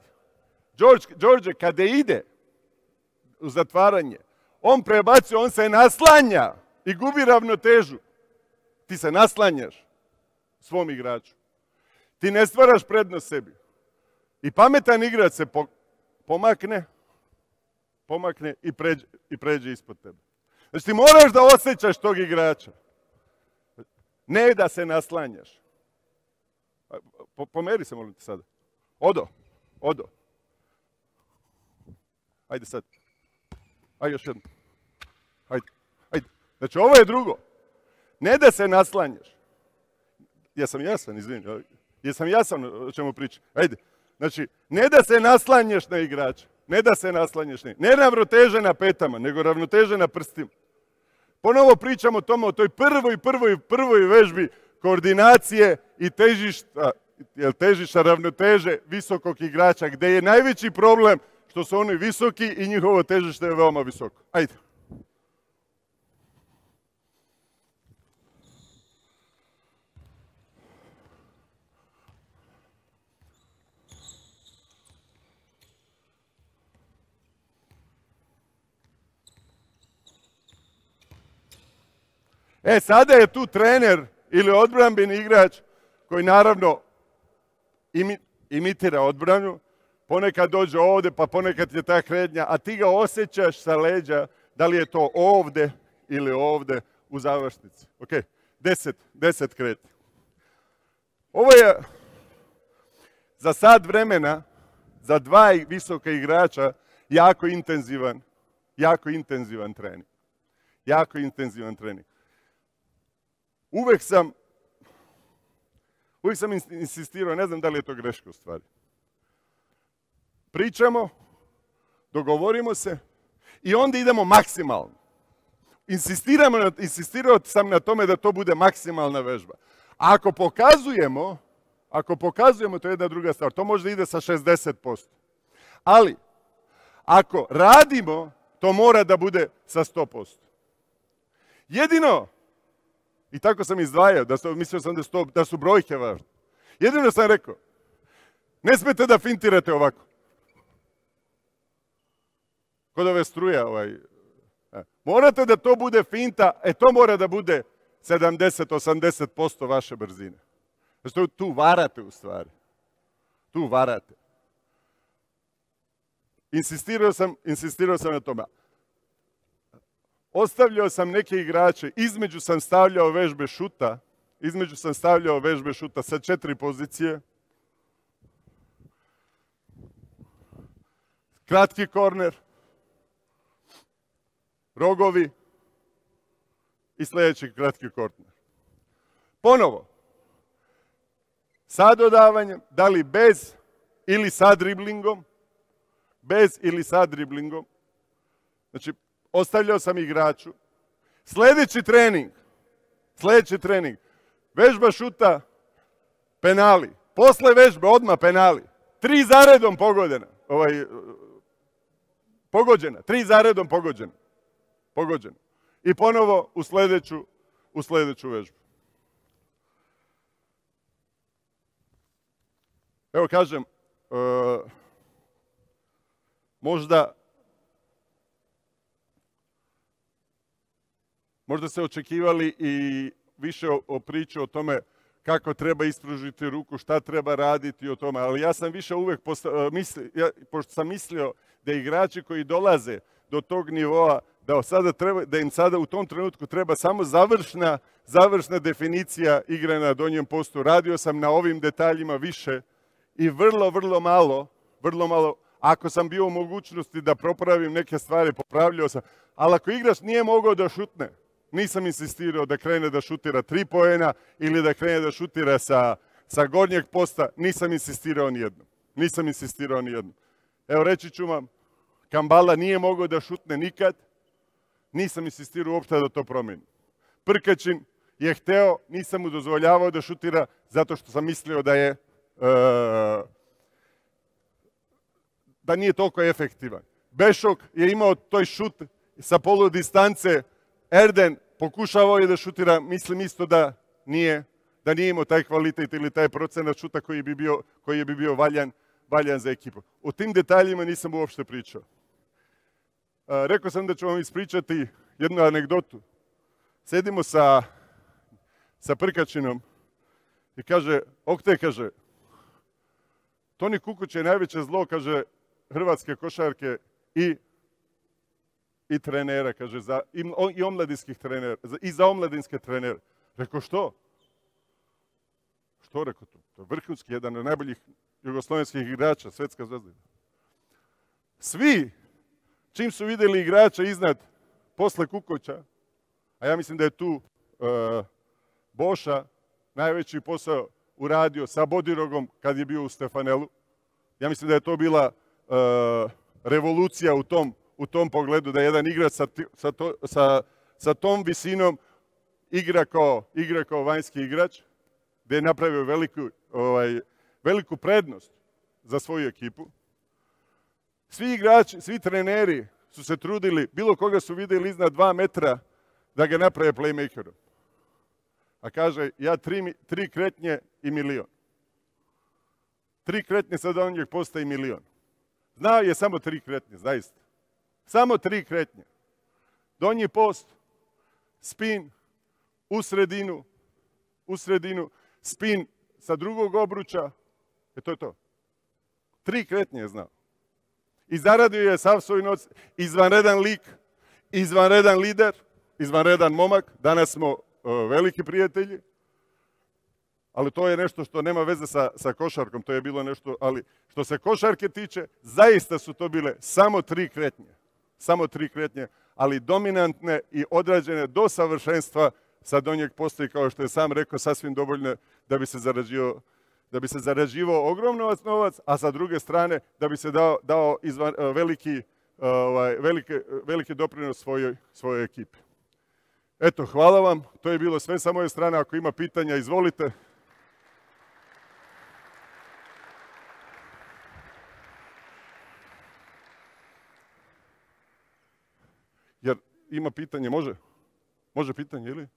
Đorđe, Đorđe kada ide u zatvaranje, on prebacuje, on se naslanja i gubi ravnotežu. Ti se naslanjaš svom igraču. Ti ne stvaraš prednost sebi. I pametan igrač se pomakne, pomakne i pređe, i pređe ispod tebe. Znači ti moraš da osjećaš tog igrača. Ne da se naslanjaš. Pomeri se, molim te sada. Odo, odo. Ajde sad. Ajde još jedno. Ajde, ajde. Znači ovo je drugo. Ne da se naslanjaš. Jesam jasan, izvini. Jesam jasan o čemu pričam. Ajde. Znači, ne da se naslanjaš na igrača. Ne da se naslanjaš na igrača. Ne ravnoteže na petama, nego ravnoteže na prstima. Ponovo pričamo o tome, o toj prvoj, prvoj, prvoj vežbi koordinacije i težišta, jel težišta ravnoteže visokog igrača, gdje je najveći problem što su oni visoki i njihovo težište je veoma visoko. Ajde. E, sada je tu trener ili odbrambeni igrač koji naravno imi, imitira odbranu, ponekad dođe ovdje, pa ponekad je ta kretnja, a ti ga osjećaš sa leđa, da li je to ovdje ili ovdje u završnici. Ok, deset, deset kretnja. Ovo je za sat vremena, za dva visoka igrača, jako intenzivan, jako intenzivan trening. Jako intenzivan trening. Uvijek sam, uvijek sam insistirao, ne znam da li je to greška u stvari. Pričamo, dogovorimo se i onda idemo maksimalno. Insistiramo, insistirao sam na tome da to bude maksimalna vežba. A ako pokazujemo, ako pokazujemo, to je jedna druga stvar, to možda ide sa šezdeset posto. Ali, ako radimo, to mora da bude sa sto posto. Jedino, i tako sam izdvajao, da su, mislio sam da su, to, da su brojke važne. Jedino sam rekao, ne smete da fintirate ovako. Kod ove struje, ovaj, a, morate da to bude finta, e to mora da bude sedamdeset do osamdeset posto vaše brzine. Znači tu varate u stvari. Tu varate. Insistirao sam, insistirao sam na tome. Ostavljao sam neke igrače, između sam stavljao vežbe šuta, između sam stavljao vežbe šuta sa četiri pozicije. Kratki korner, rogovi i sljedeći kratki korner. Ponovo, sa dodavanjem, da li bez ili sa driblingom, bez ili sa driblingom. Znači, ostavljao sam igraču. Sljedeći trening, sljedeći trening, vežba šuta, penali. Posle vežbe odmah penali. Tri zaredom pogodena. Ovaj, pogođena. Tri zaredom pogođena. Pogođena. I ponovo u sljedeću, u sljedeću vežbu. Evo kažem, uh, možda Možda ste očekivali i više o, o priči o tome kako treba ispružiti ruku, šta treba raditi o tome, ali ja sam više uvek, posta, misli, ja, pošto sam mislio da igrači koji dolaze do tog nivoa, da, sada treba, da im sada u tom trenutku treba samo završna, završna definicija igre na donjem postu. Radio sam na ovim detaljima više i vrlo, vrlo malo, vrlo malo, ako sam bio u mogućnosti da popravim neke stvari, popravljao sam, ali ako igrač nije mogao da šutne, nisam insistirao da krene da šutira tri poena ili da krene da šutira sa, sa gornjeg posta, nisam insistirao nijednom. Nisam insistirao nijednom. Evo, reći ću vam, Kambala nije mogao da šutne nikad, nisam insistirao uopšte da to promeni. Prkačin je hteo, nisam mu dozvoljavao da šutira zato što sam mislio da je uh, da nije toliko efektivan. Bešok je imao toj šut sa polu distance, Erden pokušavao je da šutira, mislim isto da nije, da nije imao taj kvalitet ili taj procenat šuta koji bi bio, koji bi bio valjan, valjan za ekipu. O tim detaljima nisam uopšte pričao. A, rekao sam da ću vam ispričati jednu anegdotu. Sedimo sa, sa Prkačinom i kaže, Okte, kaže, Toni Kukoć je najveće zlo, kaže, hrvatske košarke i i trenera, kaže, za, i, i omladinskih trenera, i za omladinske trenere. Rekao, što? Što, rekao, to? To je vrhunski, jedan od najboljih jugoslovenskih igrača, svetska zvezda. Svi, čim su vidjeli igrača iznad, posle Kukoća, a ja mislim da je tu uh, Boša najveći posao uradio sa Bodirogom kad je bio u Stefanelu. Ja mislim da je to bila uh, revolucija u tom u tom pogledu, da jedan igrač sa, sa, to, sa, sa tom visinom igra kao, igra kao vanjski igrač, gde je napravio veliku, ovaj, veliku prednost za svoju ekipu. Svi igrači, svi treneri su se trudili, bilo koga su vidjeli iznad dva metra, da ga naprave playmakerom. A kaže, ja tri, tri kretnje i milion. Tri kretnje sad on njeg postaje milion. Znao je samo tri kretnje, zaista. Samo tri kretnje. Donji post, spin, u sredinu, u sredinu, spin sa drugog obruča. E to je to. Tri kretnje je znao. I zaradio je sav svoj noc, izvanredan lik, izvanredan lider, izvanredan momak. Danas smo uh, veliki prijatelji. Ali to je nešto što nema veze sa, sa košarkom. To je bilo nešto, ali što se košarke tiče, zaista su to bile samo tri kretnje. Samo tri kretnje, ali dominantne i odrađene do savršenstva sa donjeg posta i kao što je sam rekao, sasvim dovoljne da bi se zarađivao, da bi se zarađivao ogroman novac, a sa druge strane da bi se dao, dao izvan, veliki, ovaj, velike, veliki doprinos svojoj, svojoj ekipi. Eto, hvala vam. To je bilo sve sa moje strane. Ako ima pitanja, izvolite. Jer ima pitanje, može? Može pitanje, ili?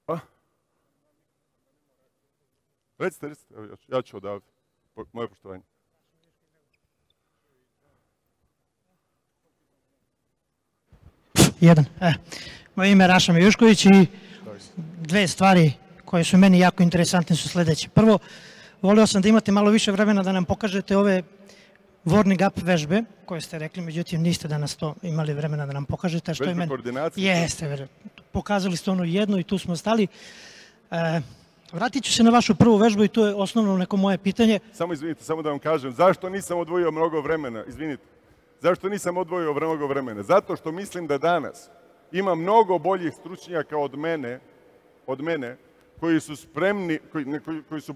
A? Recite, recite, evo, ja ću odavde. Moje poštovanje. Jedan. E, moje ime je Raša Mijušković i dve stvari koje su meni jako interesantne su sljedeće. Prvo, volio sam da imate malo više vremena da nam pokažete ove warming up vežbe koje ste rekli, međutim niste danas to imali vremena da nam pokažete. Što vežbe je meni... koordinacije? Jeste, pokazali ste ono jedno i tu smo stali. E, vratit ću se na vašu prvu vežbu i to je osnovno neko moje pitanje. Samo izvinite, samo da vam kažem, zašto nisam odvojio mnogo vremena? Izvinite. Zašto nisam odvojio mnogo vremena? Zato što mislim da danas ima mnogo boljih stručnjaka od mene, od mene koji su spremni, koji, koji, koji su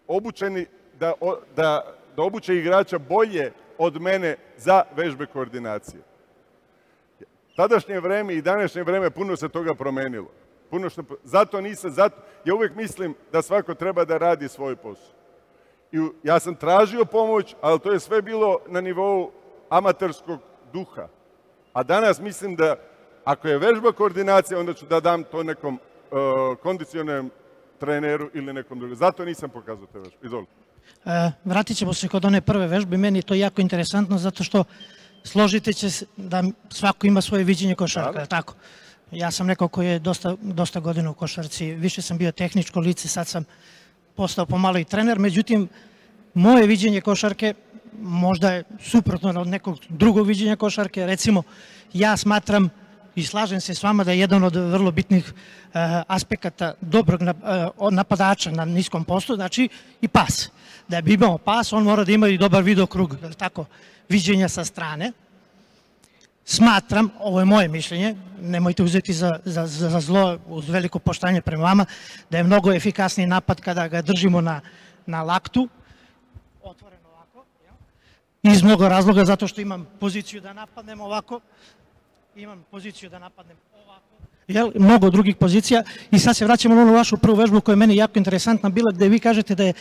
obučeni da, da, da obuče igrača bolje od mene za vežbe koordinacije. Tadašnje vreme i današnje vreme puno se toga promenilo. Puno što, zato nisam, zato, ja uvijek mislim da svako treba da radi svoj posao. I ja sam tražio pomoć, ali to je sve bilo na nivou amaterskog duha. A danas mislim da ako je vežba koordinacija, onda ću da dam to nekom kondicionalnom treneru ili nekom drugom. Zato nisam pokazao te vežbe. Izvolite. Vratit ćemo se kod one prve vežbe. Meni je to jako interesantno zato što složite će se da svako ima svoje viđenje košarka, tako? Ja sam neko koji je dosta, dosta godina u košarci, više sam bio tehničko lice, sad sam postao pomalo i trener, međutim, moje viđenje košarke možda je suprotno od nekog drugog viđenja košarke. Recimo, ja smatram i slažem se s vama da je jedan od vrlo bitnih uh, aspekata dobrog uh, napadača na niskom postu, znači i pas. Da bi imao pas, on mora da ima i dobar videokrug, tako, viđenja sa strane. Smatram, ovo je moje mišljenje, nemojte uzeti za, za, za zlo, uz veliko poštovanje prema vama, da je mnogo efikasniji napad kada ga držimo na, na laktu, otvoreno ovako, iz mnogo razloga, zato što imam poziciju da napadnem ovako, imam poziciju da napadnem ovako, jel, mnogo drugih pozicija. I sad se vraćamo na onu vašu prvu vežbu koja je meni jako interesantna bila, gde vi kažete da je,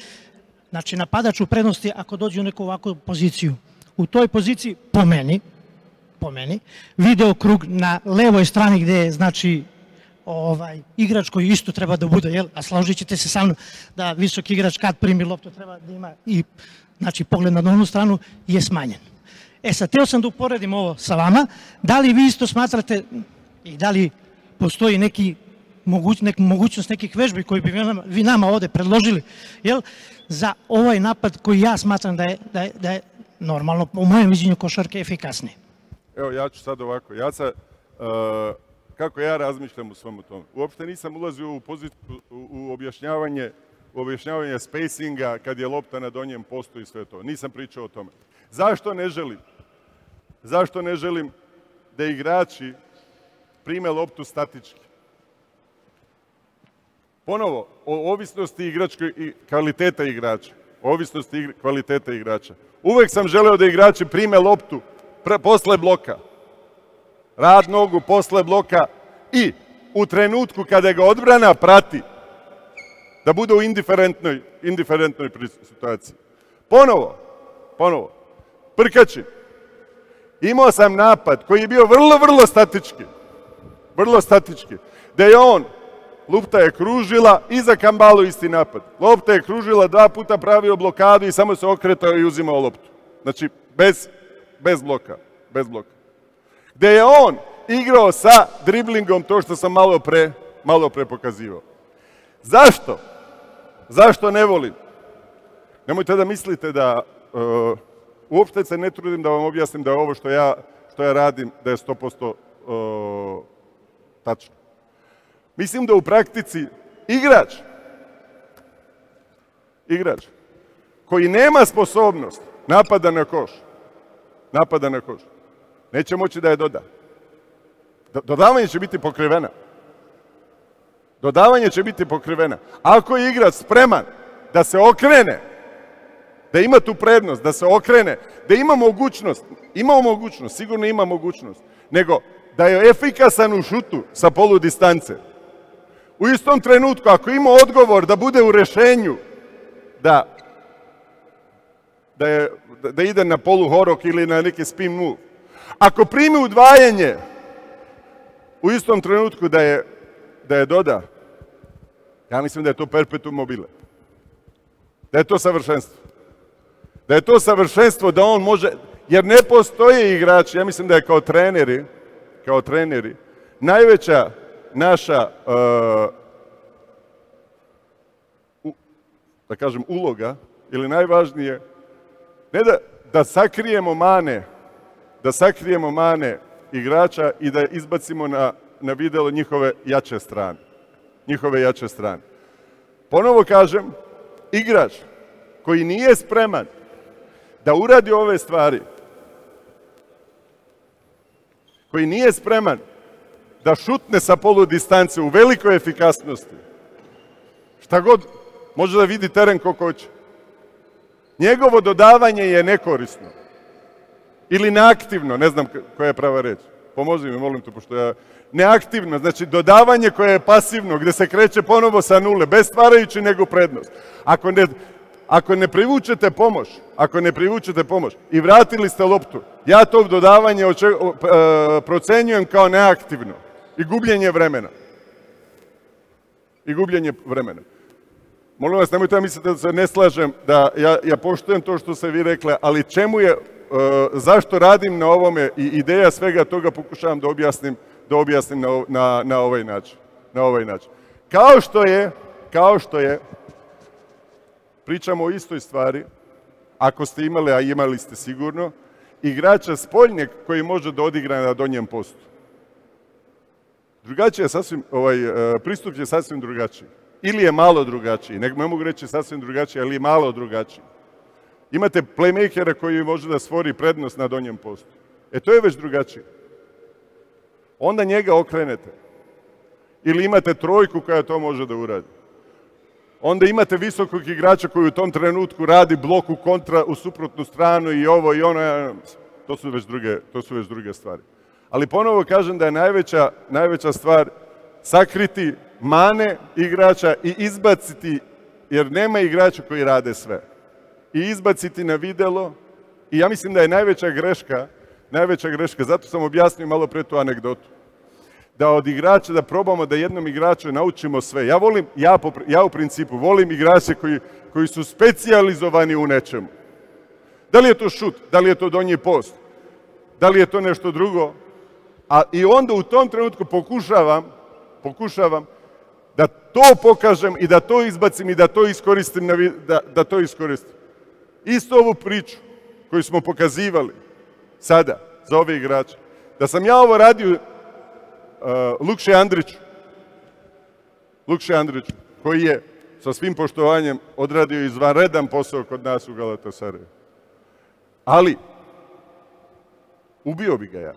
znači, napadač u prednosti ako dođe u neku ovakvu poziciju. U toj poziciji, po meni, po meni, video krug na levoj strani gde je, znači, ovaj, igrač koji isto treba da bude, jel, a složit ćete se sa mnom da visok igrač kad primi loptu treba da ima i, znači, pogled na onu stranu je smanjen. E sad, teo sam da uporedim ovo sa vama, da li vi isto smatrate i da li postoji neki moguć, nek, mogućnost nekih vežbi koji bi vi nama ovde predložili, jel, za ovaj napad koji ja smatram da je, da je, da je normalno, u mojem viđenju košarke, efikasniji. Evo, ja ću sad ovako. Ja sad, uh, kako ja razmišljam u svemu tome? Uopšte nisam ulazio u, poziciju, u, u objašnjavanje, u objašnjavanje spacinga kad je lopta na donjem postu i sve to. Nisam pričao o tome. Zašto ne želim? Zašto ne želim da igrači prime loptu statički? Ponovo, o ovisnosti igračke i kvaliteta igrača. O ovisnosti igr, kvaliteta igrača. Uvek sam želeo da igrači prime loptu pre, posle bloka. Rad nogu posle bloka i u trenutku kada ga odbrana prati da bude u indiferentnoj, indiferentnoj situaciji. Ponovo, ponovo, Prkačin. Imao sam napad koji je bio vrlo, vrlo statički. Vrlo statički. Da je on, lopta je kružila i za Kambalu isti napad. Lopta je kružila, dva puta pravio blokadu i samo se okretao i uzimao loptu. Znači, bez, bez bloka. Bez bloka. Gde je on igrao sa driblingom, to što sam malo pre, malo pre pokazivao. Zašto? Zašto ne volim? Nemojte da mislite da... Uh, uopšte se ne trudim da vam objasnim da je ovo što ja, što ja radim, da je sto posto uh, tačno. Mislim da u praktici igrač, igrač koji nema sposobnost napada na koš, napada na koš, neće moći da je doda. Dodavanje će biti pokrivena. Dodavanje će biti pokrivena. Ako je igrač spreman da se okrene, da ima tu prednost, da se okrene, da ima mogućnost, ima mogućnost, sigurno ima mogućnost, nego da je efikasan u šutu sa polu distance. U istom trenutku, ako ima odgovor da bude u rešenju, da, da, je, da ide na polu horok ili na neki spin move, ako primi udvajanje, u istom trenutku da je, da je doda, ja mislim da je to perpetuum mobile. Da je to savršenstvo. Da je to savršenstvo da on može, jer ne postoje igrači, ja mislim da je kao treneri, kao treneri, najveća naša, uh, u, da kažem, uloga, ili najvažnije, ne da, da sakrijemo mane, da sakrijemo mane igrača i da izbacimo na, na videlo njihove jače strane. Njihove jače strane. Ponovo kažem, igrač koji nije spreman da uradi ove stvari, koji nije spreman da šutne sa polu distance u velikoj efikasnosti, šta god, može da vidi teren koliko hoće. Njegovo dodavanje je nekorisno. Ili neaktivno, ne znam koja je prava reč. Pomozi mi, molim te, pošto ja... Neaktivno, znači dodavanje koje je pasivno, gde se kreće ponovo sa nule, bez stvarajući nego prednost. Ako ne, ako ne privučete pomoć, ako ne privučete pomoć i vratili ste loptu, ja to dodavanje oče, o, e, procenjujem kao neaktivno i gubljenje vremena. i gubljenje vremena. Molim vas, nemojte da mislite da se ne slažem, da ja, ja poštujem to što ste vi rekli, ali čemu je, uh, zašto radim na ovome i ideja svega toga pokušavam da objasnim, da objasnim na, na, na ovaj način. Na ovaj način. Kao što je, kao što je, pričamo o istoj stvari, ako ste imali, a imali ste sigurno, igrača spoljnjeg koji može da odigra na donjem postu. Drugačije je sasvim, ovaj, pristup je sasvim drugačiji. Ili je malo drugačiji, ne, ne mogu reći sasvim drugačiji, ali je malo drugačiji. Imate playmakera koji može da stvori prednost na donjem postu. E to je već drugačije. Onda njega okrenete. Ili imate trojku koja to može da uradi. Onda imate visokog igrača koji u tom trenutku radi blok u kontra, u suprotnu stranu i ovo i ono. To su već druge, to su već druge stvari. Ali ponovo kažem da je najveća, najveća stvar sakriti mane igrača i izbaciti, jer nema igrača koji rade sve. I izbaciti na videlo. I ja mislim da je najveća greška, najveća greška, zato sam objasnio malo pre tu anegdotu. Da od igrača, da probamo da jednom igraču naučimo sve. Ja volim, ja, po, ja u principu volim igrače koji, koji su specijalizovani u nečemu. Da li je to šut, da li je to donji post, da li je to nešto drugo. A i onda u tom trenutku pokušavam, pokušavam da to pokažem i da to izbacim i da to iskoristim, na, da, da to iskoristim. Isto ovu priču koju smo pokazivali sada za ove igrače. Da sam ja ovo radio Uh, Lukše Andriću, Lukše Andriću, koji je sa svim poštovanjem odradio izvanredan posao kod nas u Galatasaraju. Ali, ubio bi ga ja.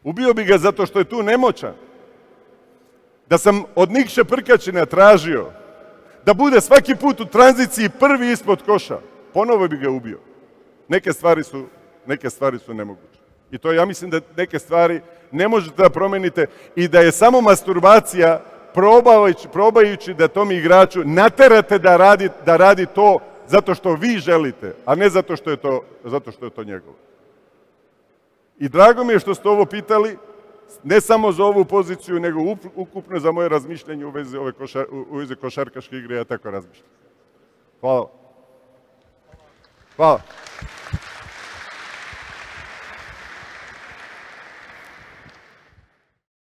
Ubio bi ga zato što je tu nemoćan. Da sam od Nikše Prkačina tražio da bude svaki put u tranziciji prvi ispod koša, ponovo bi ga ubio. Neke stvari su, neke stvari su nemoguće. I to ja mislim da neke stvari ne možete da promenite i da je samo masturbacija probajući, probajući da tom igraču naterate da radi, da radi to zato što vi želite, a ne zato što je to, zato što je to njegovo. I drago mi je što ste ovo pitali, ne samo za ovu poziciju, nego ukupno za moje razmišljanje u vezi, ove košar, u vezi košarkaške igre, ja tako razmišljam. Hvala. Hvala.